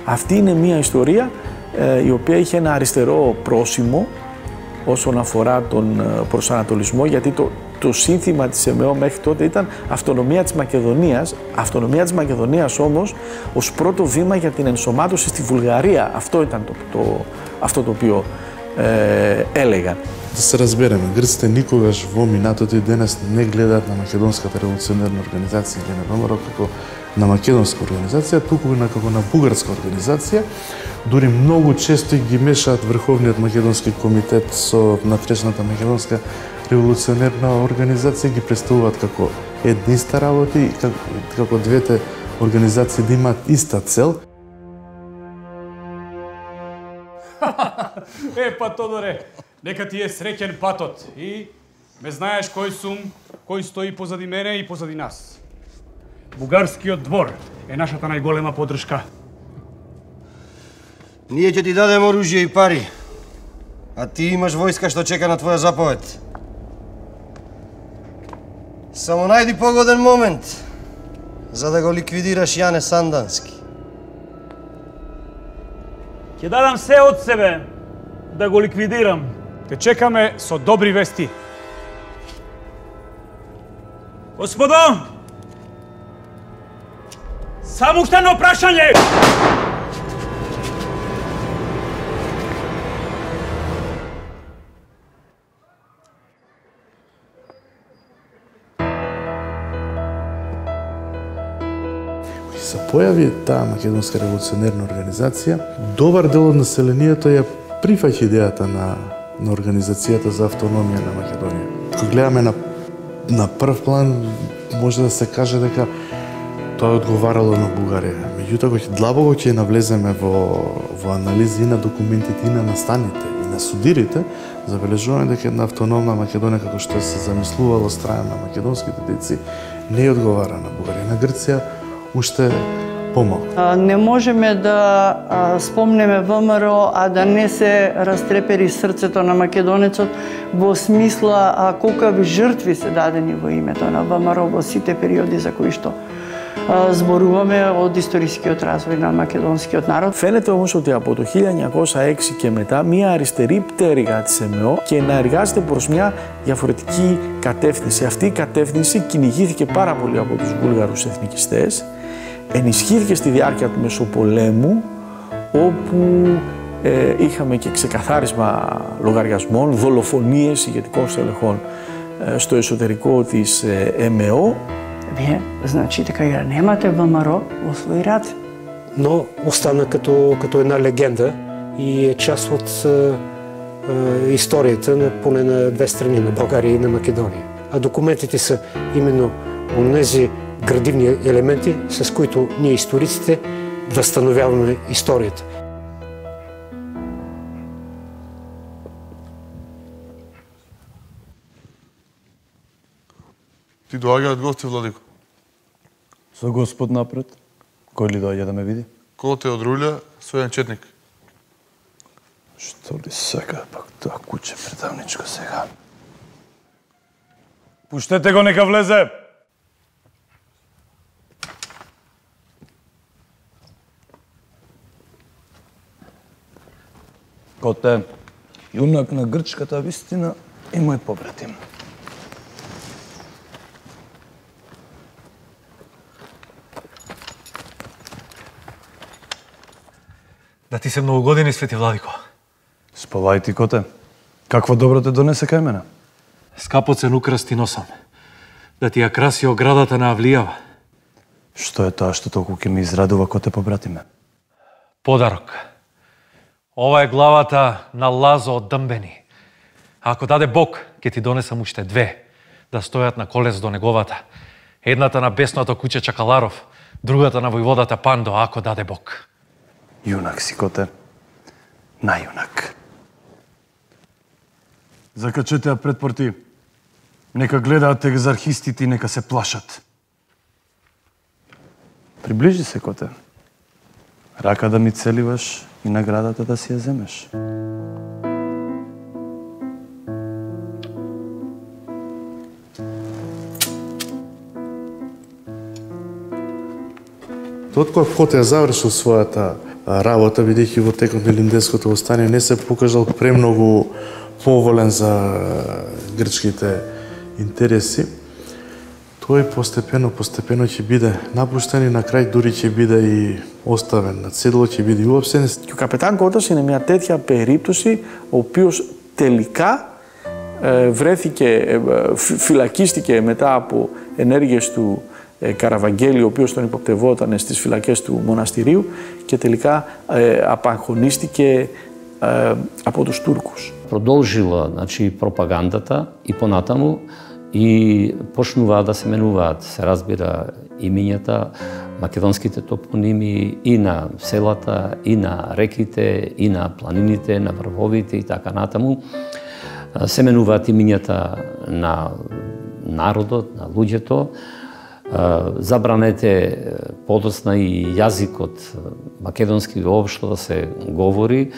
Αυτή είναι μια ιστορία η οποία είχε ένα αριστερό πρόσημο όσον αφορά τον προσανατολισμό, γιατί το σύνθημα της ΕΜΕΟ μέχρι τότε ήταν αυτονομία της Μακεδονίας. Αυτονομία της Μακεδονίας όμως ως πρώτο βήμα για την ενσωμάτωση στη Βουλγαρία. Αυτό ήταν αυτό το οποίο έλεγαν. Да се разбереме, грците никогаш во минатото и денес не гледаат на Македонската револуционерна организација или на ВМРО како на македонска организација, туку како на бугарска организација. Дури многу често ги мешаат Врховниот македонски комитет со натрешната македонска револуционерна организација, ги представуваат како една иста работа и како двете организации да имаат иста цел. Па Тодоре, нека ти е среќен патот и ме знаеш кој сум, кој стои позади мене и позади нас. Бугарскиот двор е нашата најголема поддршка. Ние ќе ти дадем оружје и пари, а ти имаш војска што чека на твоја заповед. Само најди погоден момент за да го ликвидираш Јане Сандански. Ќе дадам се од себе да го ликвидирам. Те чекаме со добри вести. Господо, само уште едно прашање. Се појави таа македонска револуционерна организација, добар дел од населението ја прифаќа идејата на организацијата за автономија на Македонија. Кога гледаме на прв план, може да се каже дека тоа одговарало на Бугарија. Меѓутоа, кога длабоко ќе навлеземе во анализи на документите и на настаните и на судирите, забележуваме дека една автономна Македонија, како што се замислувало од страна на македонските деци, не одговара на Бугарија. На Грција уште помалку. Не можеме да спомнеме ВМРО, а да не се растрепери срцето на македонецот во смисла колкави жртви се дадени во името на ВМРО во сите периоди за кои што зборуваме од историскиот развој на македонскиот народ. Φαίνεται όμως ότι από το 1906 και μετά μια αριστερή πτέρυγα της ΕΜΕΟ και να εργάζεται προς μια διαφορετική κατεύθυνση. Αυτή η κατεύθυνση κυνηγήθηκε πάρα πολύ από τους Βούλγαρους εθνικιστές, ενισχύθηκε στη διάρκεια του Μεσοπολέμου, όπου είχαμε και ξεκαθάρισμα λογαριασμών, δολοφονίες ηγετικών στελεχών στο εσωτερικό της ΕΜΕΟ. Вие, значи дека ја немате ВМРО во своји раце. Но остана като една легенда и е част от историјата поне на две страни, на Българија и на Македонија. А документите са именно онези градивни елементи, с които ние историците възстановяваме историјата. Ти доаѓаат гости, Владико? Со Господ напред. Кој ли доаѓа да ме види? Кој те одрулја, својен четник. Што ли сега пак тоа куче предавничко сега? Пуштете го, нека влезе! Коте, јунак на грчката вистина и мој побратим. Да ти се многу години, Свети Владико. Спавај ти, Коте. Каква добро те донесе кај мене? Скапоцен украс ти носам. Да ти ја краси оградата на Авлијава. Што е тоа што толку ќе ми израдува, Коте, побратиме? Подарок. Ова е главата на Лазо од Дъмбени. Ако даде Бог, ќе ти донесам уште две, да стојат на колес до неговата. Едната на бесното куче Чакаларов, другата на војводата Пандо, ако даде Бог. Јунак си, Коте. Најунак. Закачете ја пред порти. Нека гледаат екзархистите и нека се плашат. Приближи се, Коте. Рака да ми целиваш и наградата да си ја земеш. Откога Коте ја завршил својата работа, бидејќи во текот на Илинденското востание не се покажал премногу поволен за грчките интереси, тој постепено ќе биде напуштен и на крај дури ќе биде и оставен на цедло, ќе биде и уапсен. Και ο καπετάν Κώτας είναι μια τέτοια περίπτωση, ο οποίος τελικά βρέθηκε, φυλακίστηκε μετά από ενέργειες του Καραβαγγέλη, ο οποίος τον υποπτευόταν στις φυλακές του μοναστηρίου και τελικά απαγχωνίστηκε από τους Τούρκους. Продолжила, значи, пропагандата и понатаму и почнуваат да се менуваат, се разбира, имињата, македонските топоними и на селата, и на реките, и на планините, на врвовите и така натаму. Се менуваат имињата на народот, на луѓето. Забранете подоцна и јазикот македонски воопшто да се говори.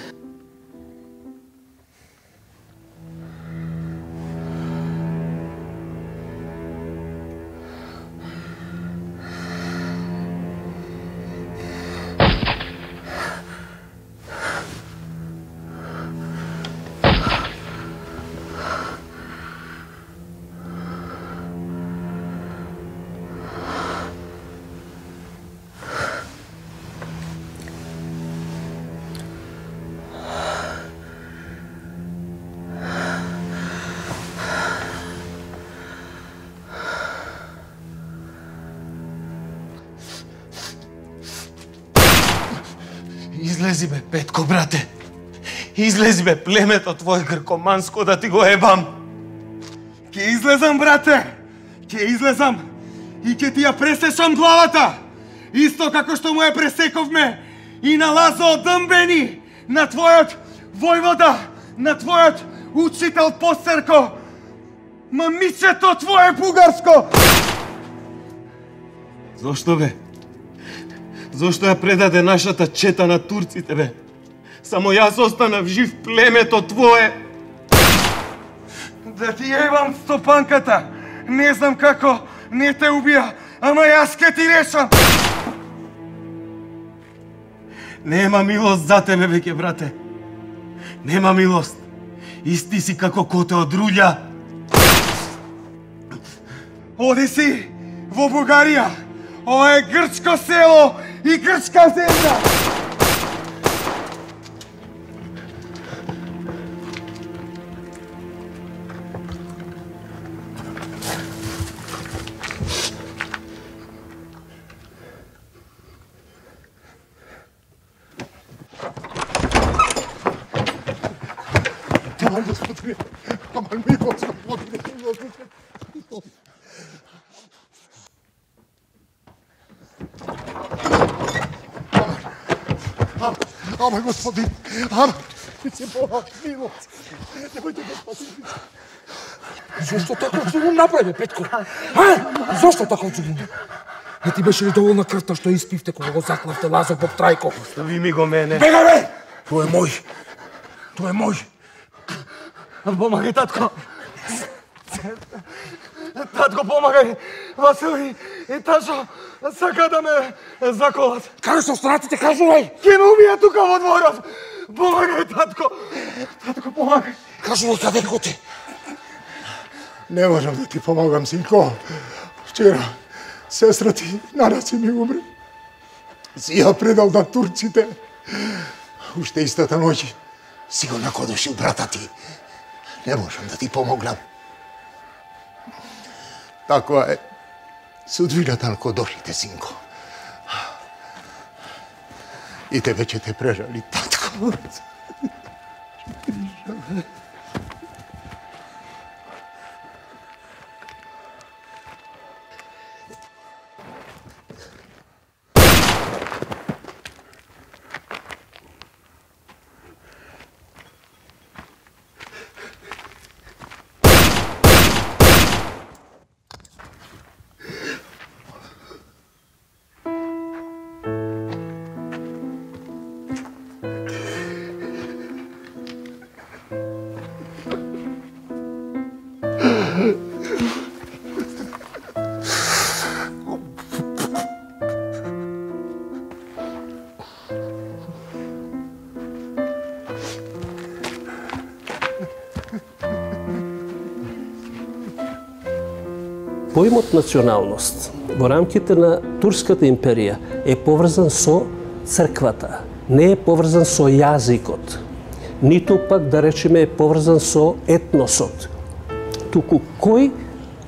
Излези бе, Петко, брате. Излези бе, племето твое гркоманско да ти го ебам. Ке излезам, брате. Ке излезам и ке ти ја пресечам главата. Исто како што му ја пресековме и на Лазо Дъмбени, на твојот војвода, на твојот учител Постерко. Мамичето твое бугарско. Зошто бе? Зошто ја предаде нашата чета на турците, бе? Само јас останав жив, племето твое. Да ти ебам стопанката. Не знам како не те убија, ама јас ке ти решам. Нема милост за тебе, веќе, брате. Нема милост. Исти си како коте од рулја. Оди си во Бугарија. Ова е грчко село и грчка земја. Ама, господин, ама, се Бога, милост. Немојте да спасите. Зошто таков зулум направи, Петко? Зошто таков зулум? Не ти беше ли доволна крвта што испивте кога го заклавте Лазо Боб Трајко? Остави ми го мене. Бегај, бе! Тој е мој. Тој е мој. Помагај, татко. Татко, помагај. Васили и Ташо сака да ме заколат. Каде се останатите, кажувај? Ке ме убија тука во дворот. Помагај, татко. Татко, помагај. Кажувај каде коти. Не можам да ти помогам, синко. Вчера сестра ти на раци ми умре. Си ја предал на турците. Уште истата ноќ си го накодошил брата ти. Не можам да ти помогнам. Таква е судбината на кодошите, синко. И тебе ќе те прежали, татко. Поимот националност во рамките на Турската империја е поврзан со црквата, не е поврзан со јазикот, ниту пак да речеме е поврзан со етносот. туку кој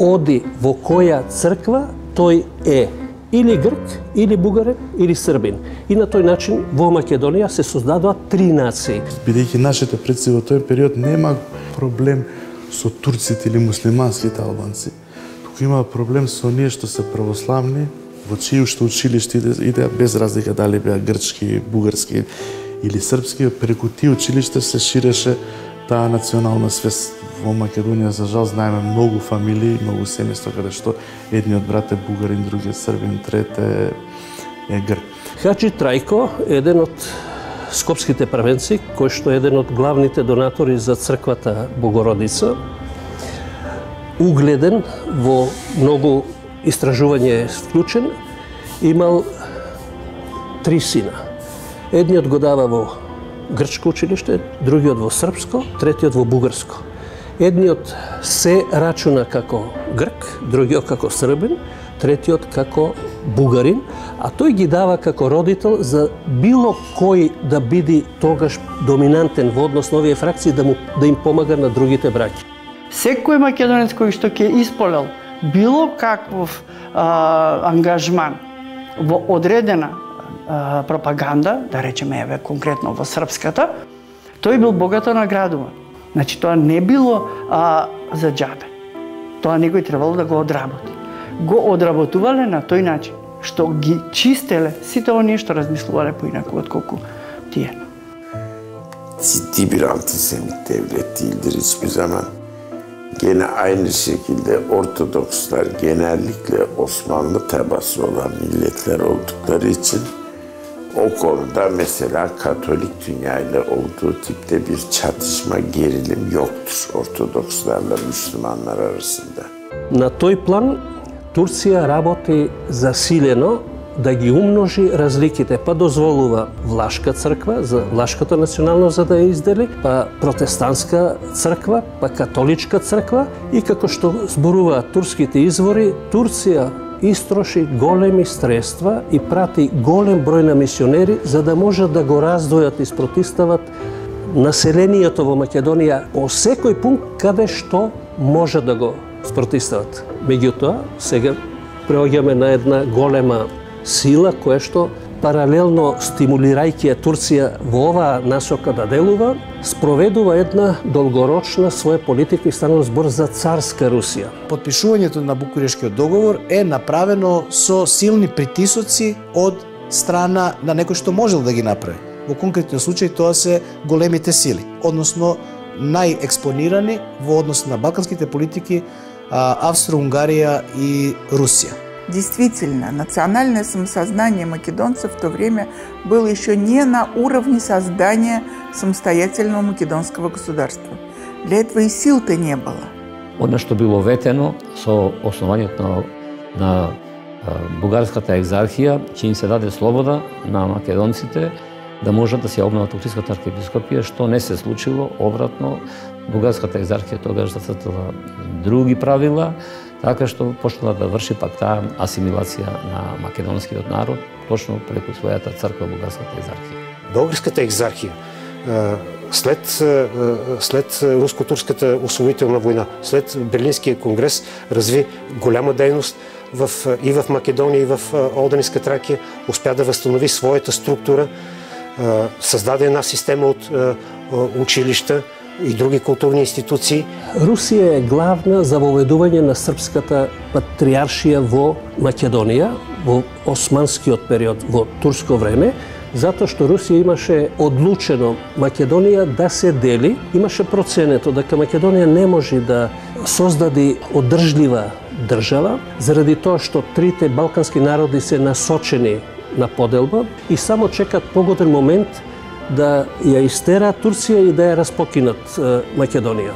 оди во која црква, тој е или грк, или бугарин, или србин. И на тој начин во Македонија се создадоа 3 нации. Бидејќи нашите предци во тој период нема проблем со турците или муслиманските албанци, туку има проблем со оние што се православни, во чии уште училиште иде без разлика дали беа грчки, бугарски или српски, преку тие училишта се ширеше таа национална свест. Во Македонија, за жал, знаеме многу фамилии, многу семејства каде што едниот брат е бугарин, другиот србин, трет е грк. Хаджи Трајко е еден од скопските првенци, кој што е еден од главните донатори за црквата Богородица. Угледен, во многу истражување е вклучен, имал 3 сина. Едниот го дава во грчко училиште, другиот во српско, третиот во бугарско. Едниот се рачуна како грк, другиот како србин, третиот како бугарин, а тој ги дава како родител за било кој да биде тогаш доминантен во однос на овие фракции, да им помага на другите браќи. Секој македонец кој што ќе исполел било каков ангажман во одредена пропаганда, да речеме еве конкретно во српската, тој бил богато наградуван. Значи тоа не било за џабе. Тоа некој требало да го одработи. Го одработувале на тој начин што ги чистеле сите оние што размислувале поинаку отколку тие. Ciddi bir antisemit devlet değildir hiçbir zaman. Gene aynı şekilde Ortodokslar genellikle Osmanlı tabası olan milletler oldukları için o konuda mesela Katolik dünyayla olduğu tipte bir çatışma, gerilim yoktur Ortodokslarla Müslümanlar arasında. На тој план Турција работи засилено да ги умножи разликите, па дозволува влашка црква, за влашката национално за да ја издели, па протестантска црква, па католичка црква и како што зборуваат турските извори, Турција истроши големи средства и прати голем број на мисионери за да можат да го раздвојат и спротистават населението во Македонија по секој пункт каде што може да го спротистават. Меѓутоа, сега преоѓаме на една голема сила која што паралелно стимулирајќи Турција во оваа насока да делува, спроведува една долгорочна своја политика и станува збор за царска Русија. Потпишувањето на Букурешкиот договор е направено со силни притисоци од страна на некој што можел да ги направи. Во конкретниот случај тоа се големите сили, односно најекспонирани во однос на балканските политики Австро-Унгарија и Русија. Действительно, национальное самосознание македонцев в то время было еще не на уровне создания самостоятельного македонского государства. Для этого и сил-то не было. Оно што било ветено со основањето на бугарската екзархија, че им се даде слобода на македонците да можат да се обноват Охридската архиепископија, што не се случило. Обратно, бугарската екзархија тогаш зацртала други правила, така што почнала да врши пак таа асимилација на македонскиот народ, точно преку својата црква, бугарската екзархија. Българската екзархија след руско-турската освоителна война, след Берлинския конгрес разви голяма дейност и в Македонија, и в Оденска Тракија, успя да възстанови своята структура, създаде една система от училища и други културни институции. Русија е главна за воведување на српската патриаршија во Македонија во османскиот период, во турско време, затоа што Русија имаше одлучено Македонија да се дели, имаше проценето дека Македонија не може да создаде одржлива држава, заради тоа што трите балкански народи се насочени на поделба и само чекат погоден момент да ја истераат Турција и да ја распокинат Македонија.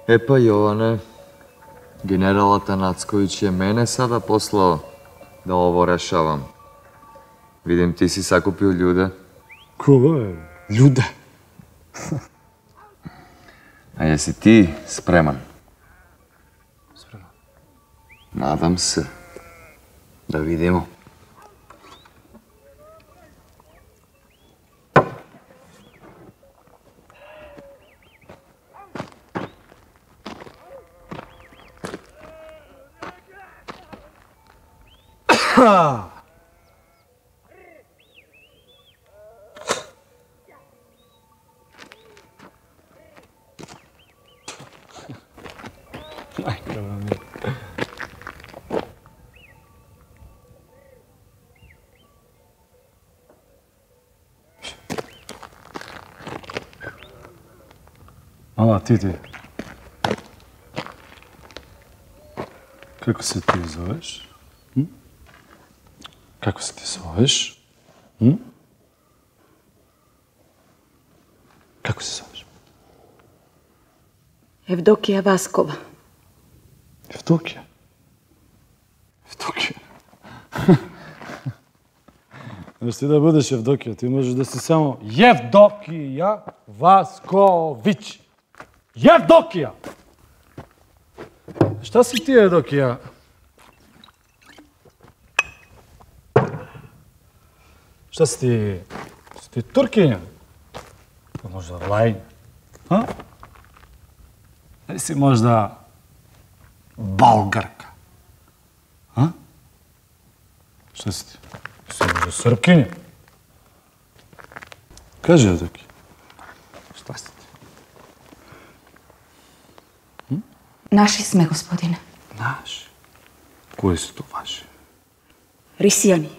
Епа, Јоване, генералот Нацковиќ е мене сада послao да ово решавам. Видим, ти си сакупил људе. Кого е? Људе? А јеси ти спреман? Спреман. Надам се. Да видимо. Ама, ти. Како се ти зовеш? Како се ти зовеш? Како се зовеш? Евдокија Васкова. Евдокија? Можеш ти да будеш Евдокија, ти можеш да си само Евдокија Васковиќ. Евдокија! Шта си ти, Евдокија? Шта си ти? Си ти туркиња? Па можда лајн? Или си можда болгарка? Шта си ти? Си можда српкиња? Кажи, Евдокија. Шта си ти? Наши сме, господине. Наши? Кои се то ваши? Рисијани.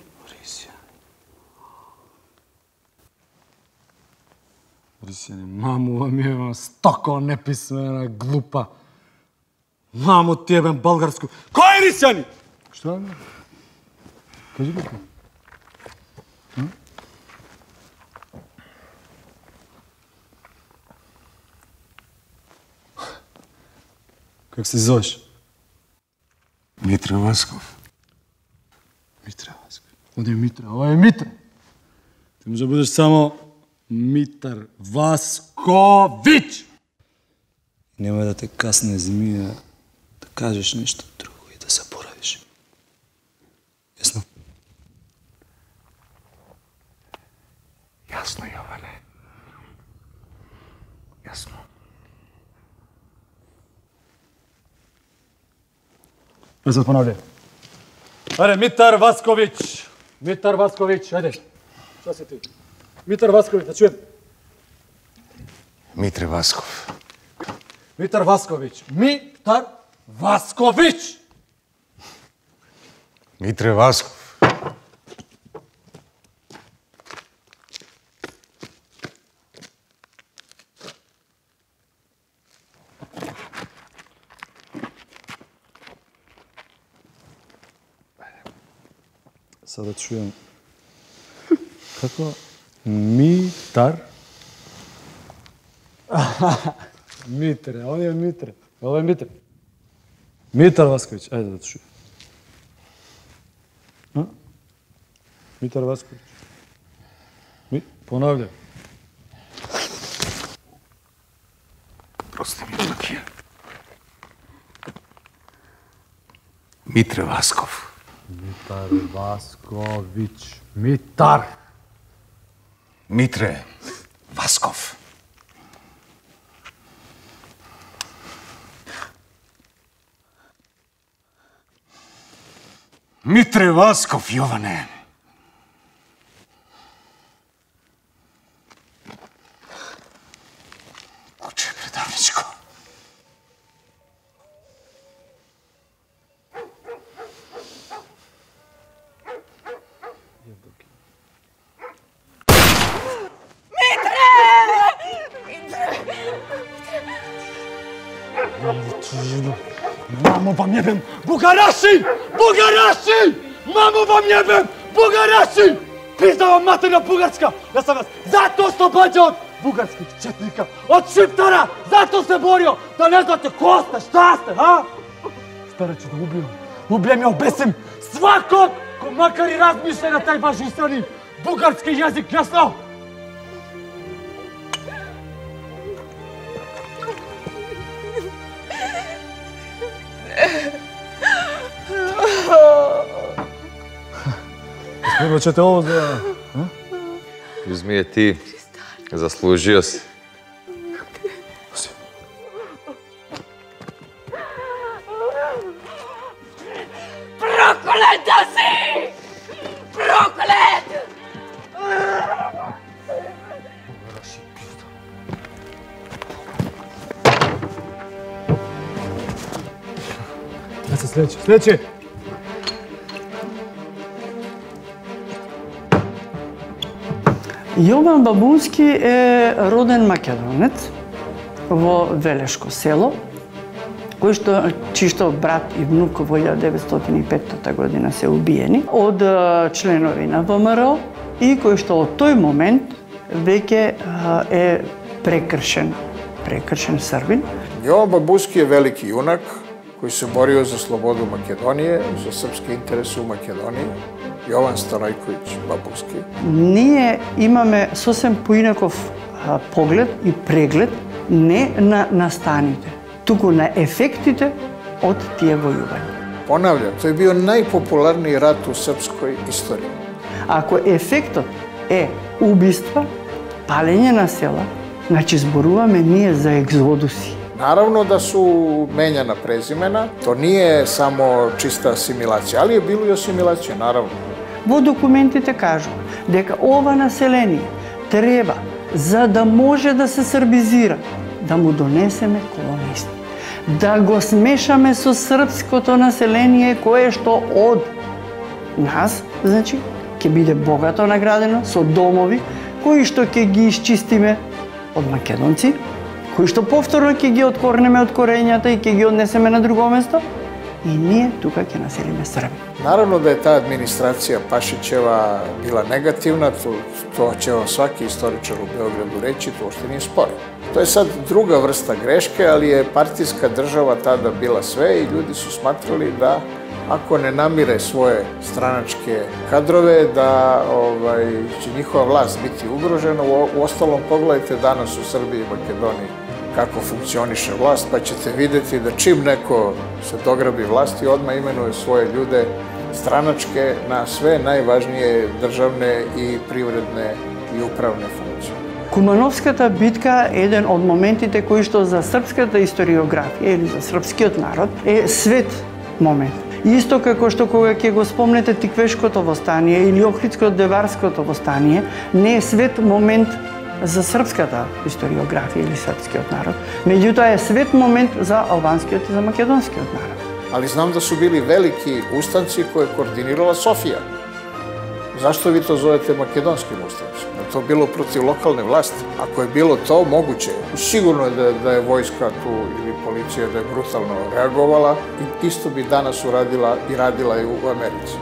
Рисијани, маму вам јебам, стоко неписмена, глупа. Маму ти јебам българску. Кој е Рисијани? Што? Кажи го ти. Как се зовеш? Митре Васков. Митре Васков. Оде е Митре, ова е Митре. Ти може да будеш само Митар Васковиќ. Нема да те касне змија да кажеш нешто друго и да заборавиш. Јасно? Јасно, Јоване. Јасно. Се понавлjaј. Ајде, Митар Васковиќ. Митар Васковиќ, ајде. Шта си ти? Митар Васковиќ, да чуем. Митре Васков. Митар Васковиќ. Митар Васковиќ! Митре Васков. Sada čujem kako Митар. Митре, он е Митре. Ова е Митре. Митар Васковиќ, ајде да чуjem. Митар Васковиќ. Понавлjaј. Прости ми, Евдокија. Митре Васков. Митар Васковиќ. Митар. Митре Васков. Митре Васков, Јоване. Куче предавничко. Мамо вам јебем, бугараши! Бугараши! Мамо вам јебем, бугараши! Пизда вам матерна бугарска! Јас сам вас затоа ослобоđен! бугарских четника, од Шиптара! Зато се борио! Да не знате ко сте, шта сте, а? Старече да убием и обесим сваког ко макар и размишља на тај бажисани бугарски јазик, јасно? Испоручете ово за... Узми ја ти. Заслужио си. Проклет да си! Проклет! Ја се следче. Јован Бабунски е роден македонец во Велешко село, чишто брат и внук во 1905 година се убиени од членови на ВМРО и кој што од тој момент веќе е прекршен Србин. Јован Бабунски е велики јунак кој се борио за слободу Македонија, за српски интерес у Македонија. Јован Старајковиќ Бабунски. Ние имаме сосем поинаков поглед и преглед не на настаните, туку на ефектите од тие војувања. Понавljam, тој е био најпопуларниот рат у српској историја. Ако ефектот е убиства, палење на села, значи зборуваме ние за екзодуси. Наравно да су менјана презимена, то не е само чиста асимилација, али е било и асимилација, наравно. Во документите кажува дека ова население треба, за да може да се србизира, да му донесеме колонисти. Да го смешаме со српското население кое што од нас, значи, ќе биде богато наградено со домови кои што ќе ги исчистиме од македонци, кои што повторно ќе ги откорнеме од корењата и ќе ги однесеме на друго место, и ние тука ќе населиме Срби. Наравно да е таа администрација Пашичева била негативна, тоа ќе сваки историчар у Белграду речи, тоа што не е спорен. Тоа е сад друга врста грешке, али е партиска држава тада била све и луѓе су сматрали да ако не намире своje stranačke kadrove, da će njihova vlast biti ugrožena. Uostalom, pogledajte danas u Srbiji i Makedoniji kako funkcioniše vlast, pa ćete vidjeti da čim neko se dograbi vlasti, odmah imenuje svoje ljude stranačke na sve najvažnije državne i privredne i upravne funkcije. Кумановската битка е еден од моментите кои што за српската историографија или за српскиот народ е свет момент. Исто како што кога ќе го спомнете Тиквешкото востание или Охридско-Деварското востание, не е свет момент за српската историографија или српскиот народ, меѓутоа е свет момент за албанскиот и за македонскиот народ. Ali znam da su bili veliki ustanci koje je koordinirala Sofija. Zašto vi to zovete makedonskim ustancima? Je to bilo protiv lokalne vlasti? Ako je bilo to, moguće je. Sigurno je da je vojska tu ili policija da je brutalno reagovala i isto bi danas uradila i radila i u Americi.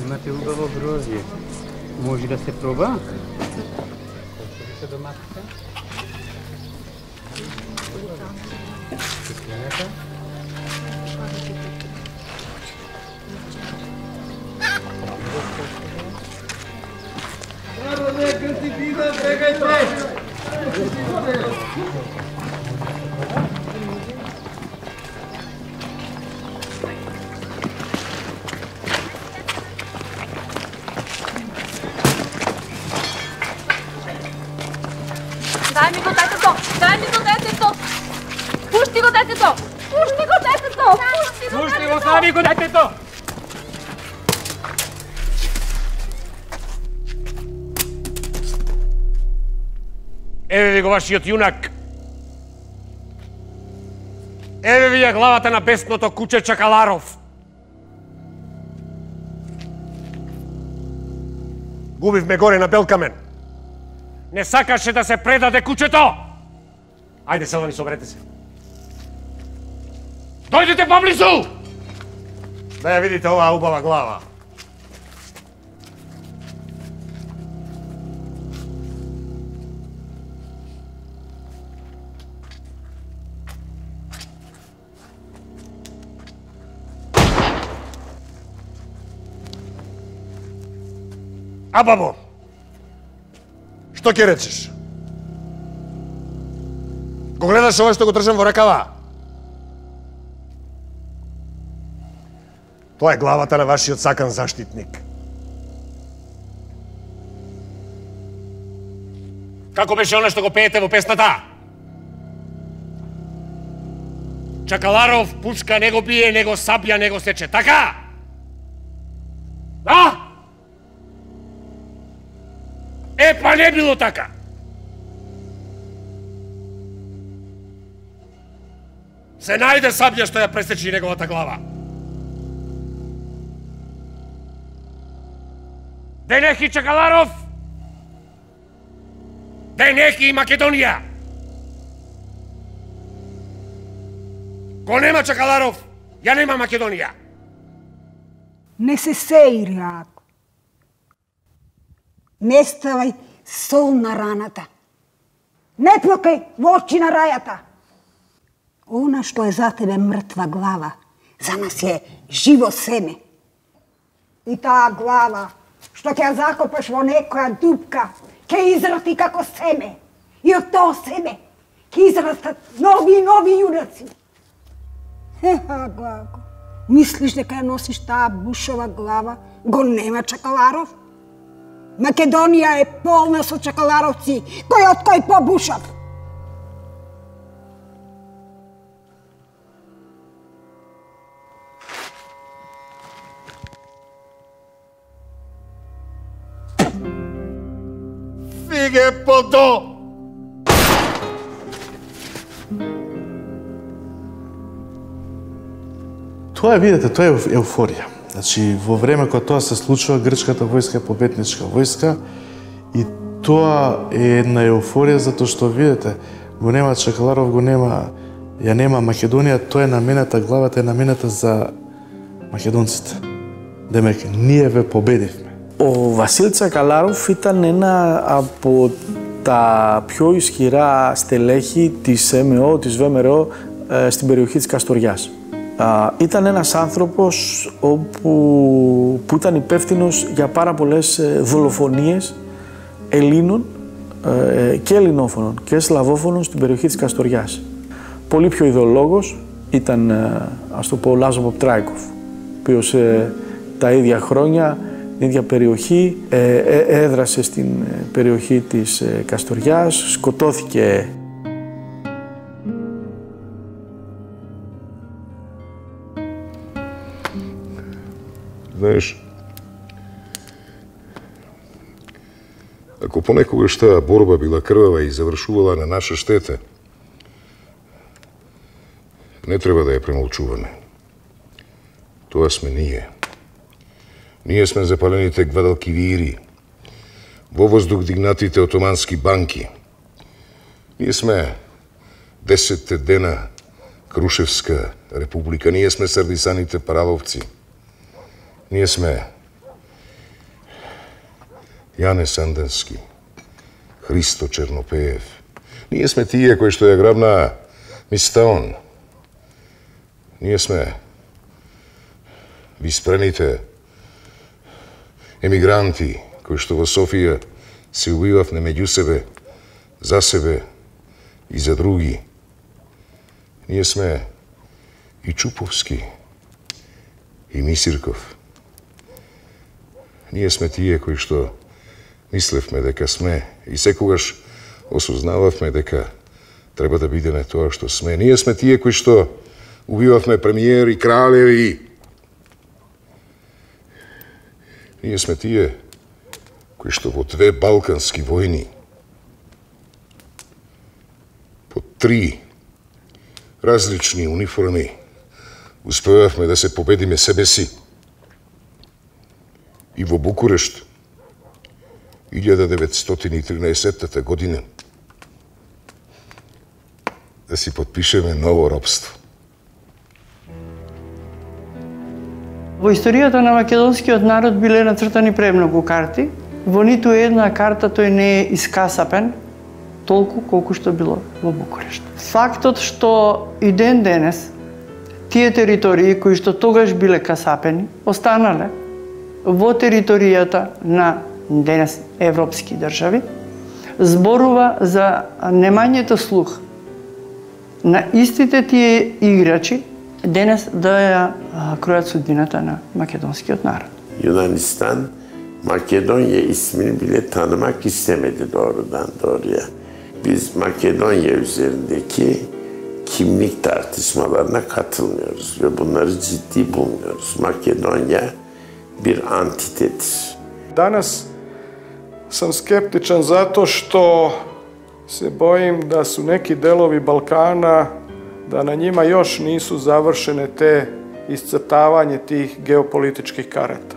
Imate ubavo grožđe. Može da se proba? Колку доматите? Киселинета? Народе, крстипина, брегајте! Дај ми го детето! Дај ми го детето! Пушти го детето! Пушти го детето! Пушти го, стави го детето! Еве ви го вашиот јунак. Еве ви ја главата на бесното куче Чакаларов. Губивме горе на Белкамен. Не сакаше да се предаде кучето. Ајде, селани, соберете се. Дојдете поблизу! Да ја видите оваа убава глава. А бабо, што ќе речеш? Го гледаш ова што го држам во ракава? Тоа е главата на вашиот сакан заштитник. Како беше оно што го пеете во песната? Чакаларов пушка не го бие, него сабја не го сече, така? А? Па не било така. Се најде сабја што ја пресечи неговата глава. Денеки Чакаларов, денеки и Македонија. Ко нема Чакаларов, ја нема Македонија. Не се сеи, Рако. Не ставај сол на раната. Не плакај во очи на рајата. Она што е за тебе мртва глава, за нас е живо семе. И таа глава, што ќе ја закопаш во некоја дупка, ќе израсти како семе. И од тоа семе ќе израстат нови и нови јунаци. Глаго, мислиш дека ја носиш таа бушова глава? Го нема Чакаларов? Македонија е полна со чакаларовци, кој од кој побушав. Фиге подо! Тоа видите, тоа е еуфорија. Значи, во време кога тоа се случува, грчката војска е победничка војска и тоа е една еуфорија затоа што видите, го нема Чакаларов, ја нема Македонија, тоа е намената, главата е намената за македонците. Демек, ние ве победивме. Ο Βασίλ Τσακαλάροφ ήταν ένα από τα πιο ισχυρά στελέχη της ΜΕΟ, της ΒΜΡΟ στην περιοχή της Καστοριάς. Ήταν ένας άνθρωπος που ήταν υπεύθυνος για πάρα πολλές δολοφονίες Ελλήνων και ελληνόφωνων και σλαβόφωνων στην περιοχή της Καστοριάς. Πολύ πιο ιδεολόγος ήταν, ας το πω, ο Λάζο Ποπτράικοφ, ο οποίος τα ίδια χρόνια, την ίδια περιοχή, έδρασε στην περιοχή της Καστοριάς, σκοτώθηκε. Знаеш, ако понекогаш таа борба била крвава и завршувала на наша штета, не треба да ја премолчуваме. Тоа сме ние. Ние сме запалените гвадалкивири, во воздух дигнатите отомански банки. Ние сме 10 дена Крушевска република. Ние сме сардисаните параловци. Ние сме Јане Санденски, Христо Чернопеев. Ние сме тие кои што ја грабна Мистаон. Ние сме виспрените емигранти кои што во Софија се убивавме меѓу себе, за себе и за други. Ние сме и Чуповски, и Мисирков. Ние сме тие кои што мислевме дека сме и секогаш осознававме дека треба да бидеме тоа што сме. Ние сме тие кои што убивавме премиери, кралеви. Ние сме тие кои што во 2 балкански војни, по 3 различни униформи, успевавме да се победиме себе си. И во Букурешт, 1913 година, да си подпишеме ново робство. Во историјата на македонскиот народ биле нацртани премногу карти. Во ниту една карта тој не е искасапен толку колку што било во Букурешт. Фактот што и ден денес тие територии кои што тогаш биле касапени останале во територијата на денес европски држави, зборува за немањето слух на истите тие играчи денес да ја кројат судбината на македонскиот народ. Yunanistan, Makedonya ismini bile tanımak istemedi doğrudan doğruya. Biz Makedonya üzerindeki kimlik tartışmalarına katılmıyoruz ve bunları ciddi bulmuyoruz. Makedonya bir antitedir. Danas sam skeptičan zato što se bojim da su neki delovi Balkana, da na njima još nisu završene te iscrtavanje tih geopolitičkih karata.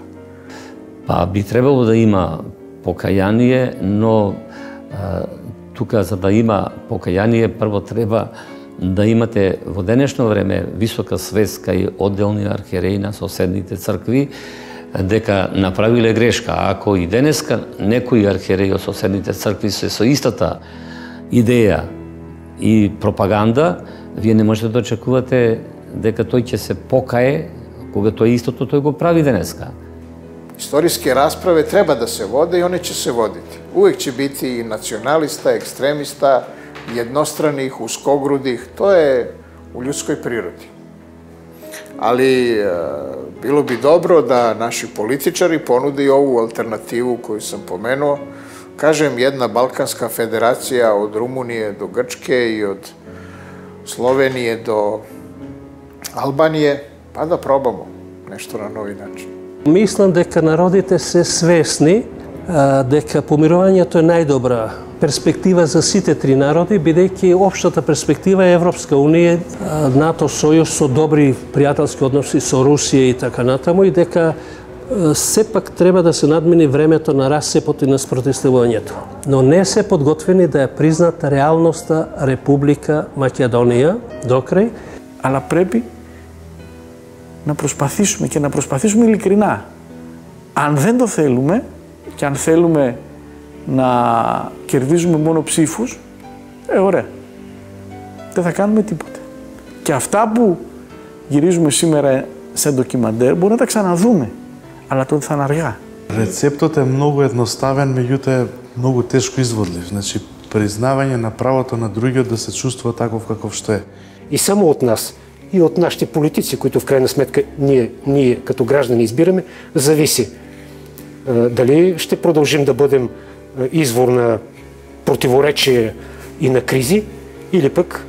Па би требало да има покаяние, но тука за да има покаяние прво треба да имате во денешно време висока свест кај одделни архиереи на соседните цркви дека направиле грешка. Ако и денеска некои архиереи од соседните цркви се со истата идеја и пропаганда, вие не можете да очекувате дека тој ќе се покае кога тој истото тој го прави денеска. Istorijske rasprave treba da se vode i one će se voditi. Uvijek će biti i nacionalista, ekstremista, jednostranih, uskogrudih. To je u ljudskoj prirodi. Ali bilo bi dobro da naši političari ponude i ovu alternativu koju sam pomenuo. Kažem, jedna Balkanska federacija od Rumunije do Grčke i od Slovenije do Albanije, pa da probamo nešto na novi način. Мислам дека народите се свесни дека помирувањето е најдобра перспектива за сите три народи, бидејќи општата перспектива е Европска Унија, НАТО сојуз со добри пријателски односи со Русија и така натаму, и дека сепак треба да се надмини времето на расцепот и на спротивставувањето. Но не се подготвени да ја признат реалноста Република Македонија докрај. Αλλά πρέπει να προσπαθήσουμε και να προσπαθήσουμε ειλικρινά. Αν δεν το θέλουμε και αν θέλουμε να κερδίζουμε μόνο ψήφους, ωραία. Δεν θα κάνουμε τίποτε. Και αυτά που γυρίζουμε σήμερα σε ντοκιμαντέρ μπορούμε να τα ξαναδούμε, αλλά τότε θα είναι αργά. Рецептот е многу едноставен, меѓутоа е многу тешко изводлив. Значи, признавање на правото на другиот да се чувствува таков каков што е. И само от нас, и от нашите политици, които в крайна сметка ние като граждани избираме, зависи дали ще продължим да бъдем извор на противоречия и на кризи, или пък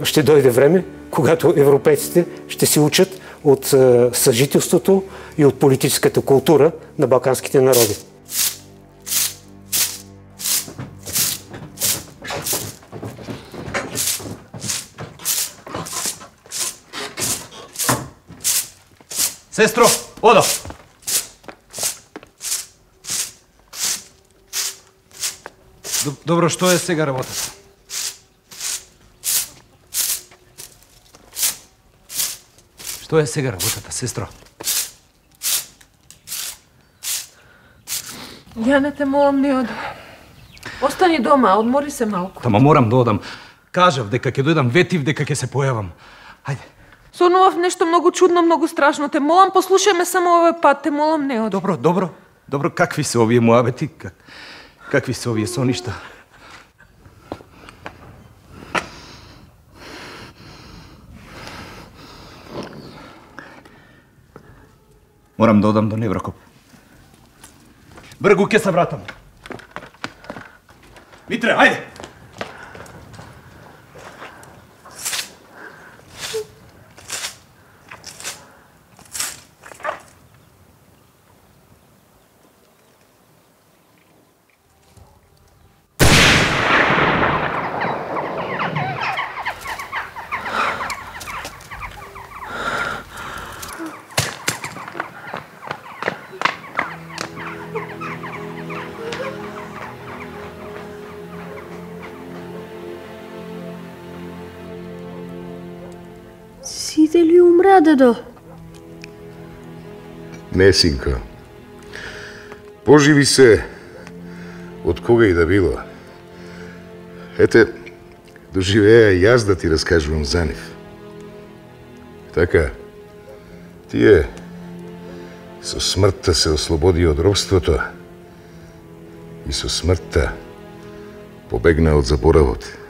ще дойде време, когато европейците ще се учат от съжителството и от политическата култура на балканските народи. Сестро, одо! Добро, што е сега работата? Што е сега работата, сестро? Ја не те молам, не оди. Остани дома, одмори се малку. Тама морам да одам. Кажав дека ќе дојдам, ветив дека ќе се појавам. Хајде. Сонував нешто многу чудно, многу страшно. Те молам, послушај ме само овој пат. Те молам, не оди. Добро, добро. Добро, какви се овие муабети? Какви се овие соништа? Морам да одам до Неврокоп. Бргу ќе се вратам. Митре, ајде! дали умра, дедо? Не, синко. Поживи се од кога и да било. Ете, доживеа и јас да ти раскажувам за нив. Така, тие со смртта се ослободи од робството и со смртта побегна од заборавот.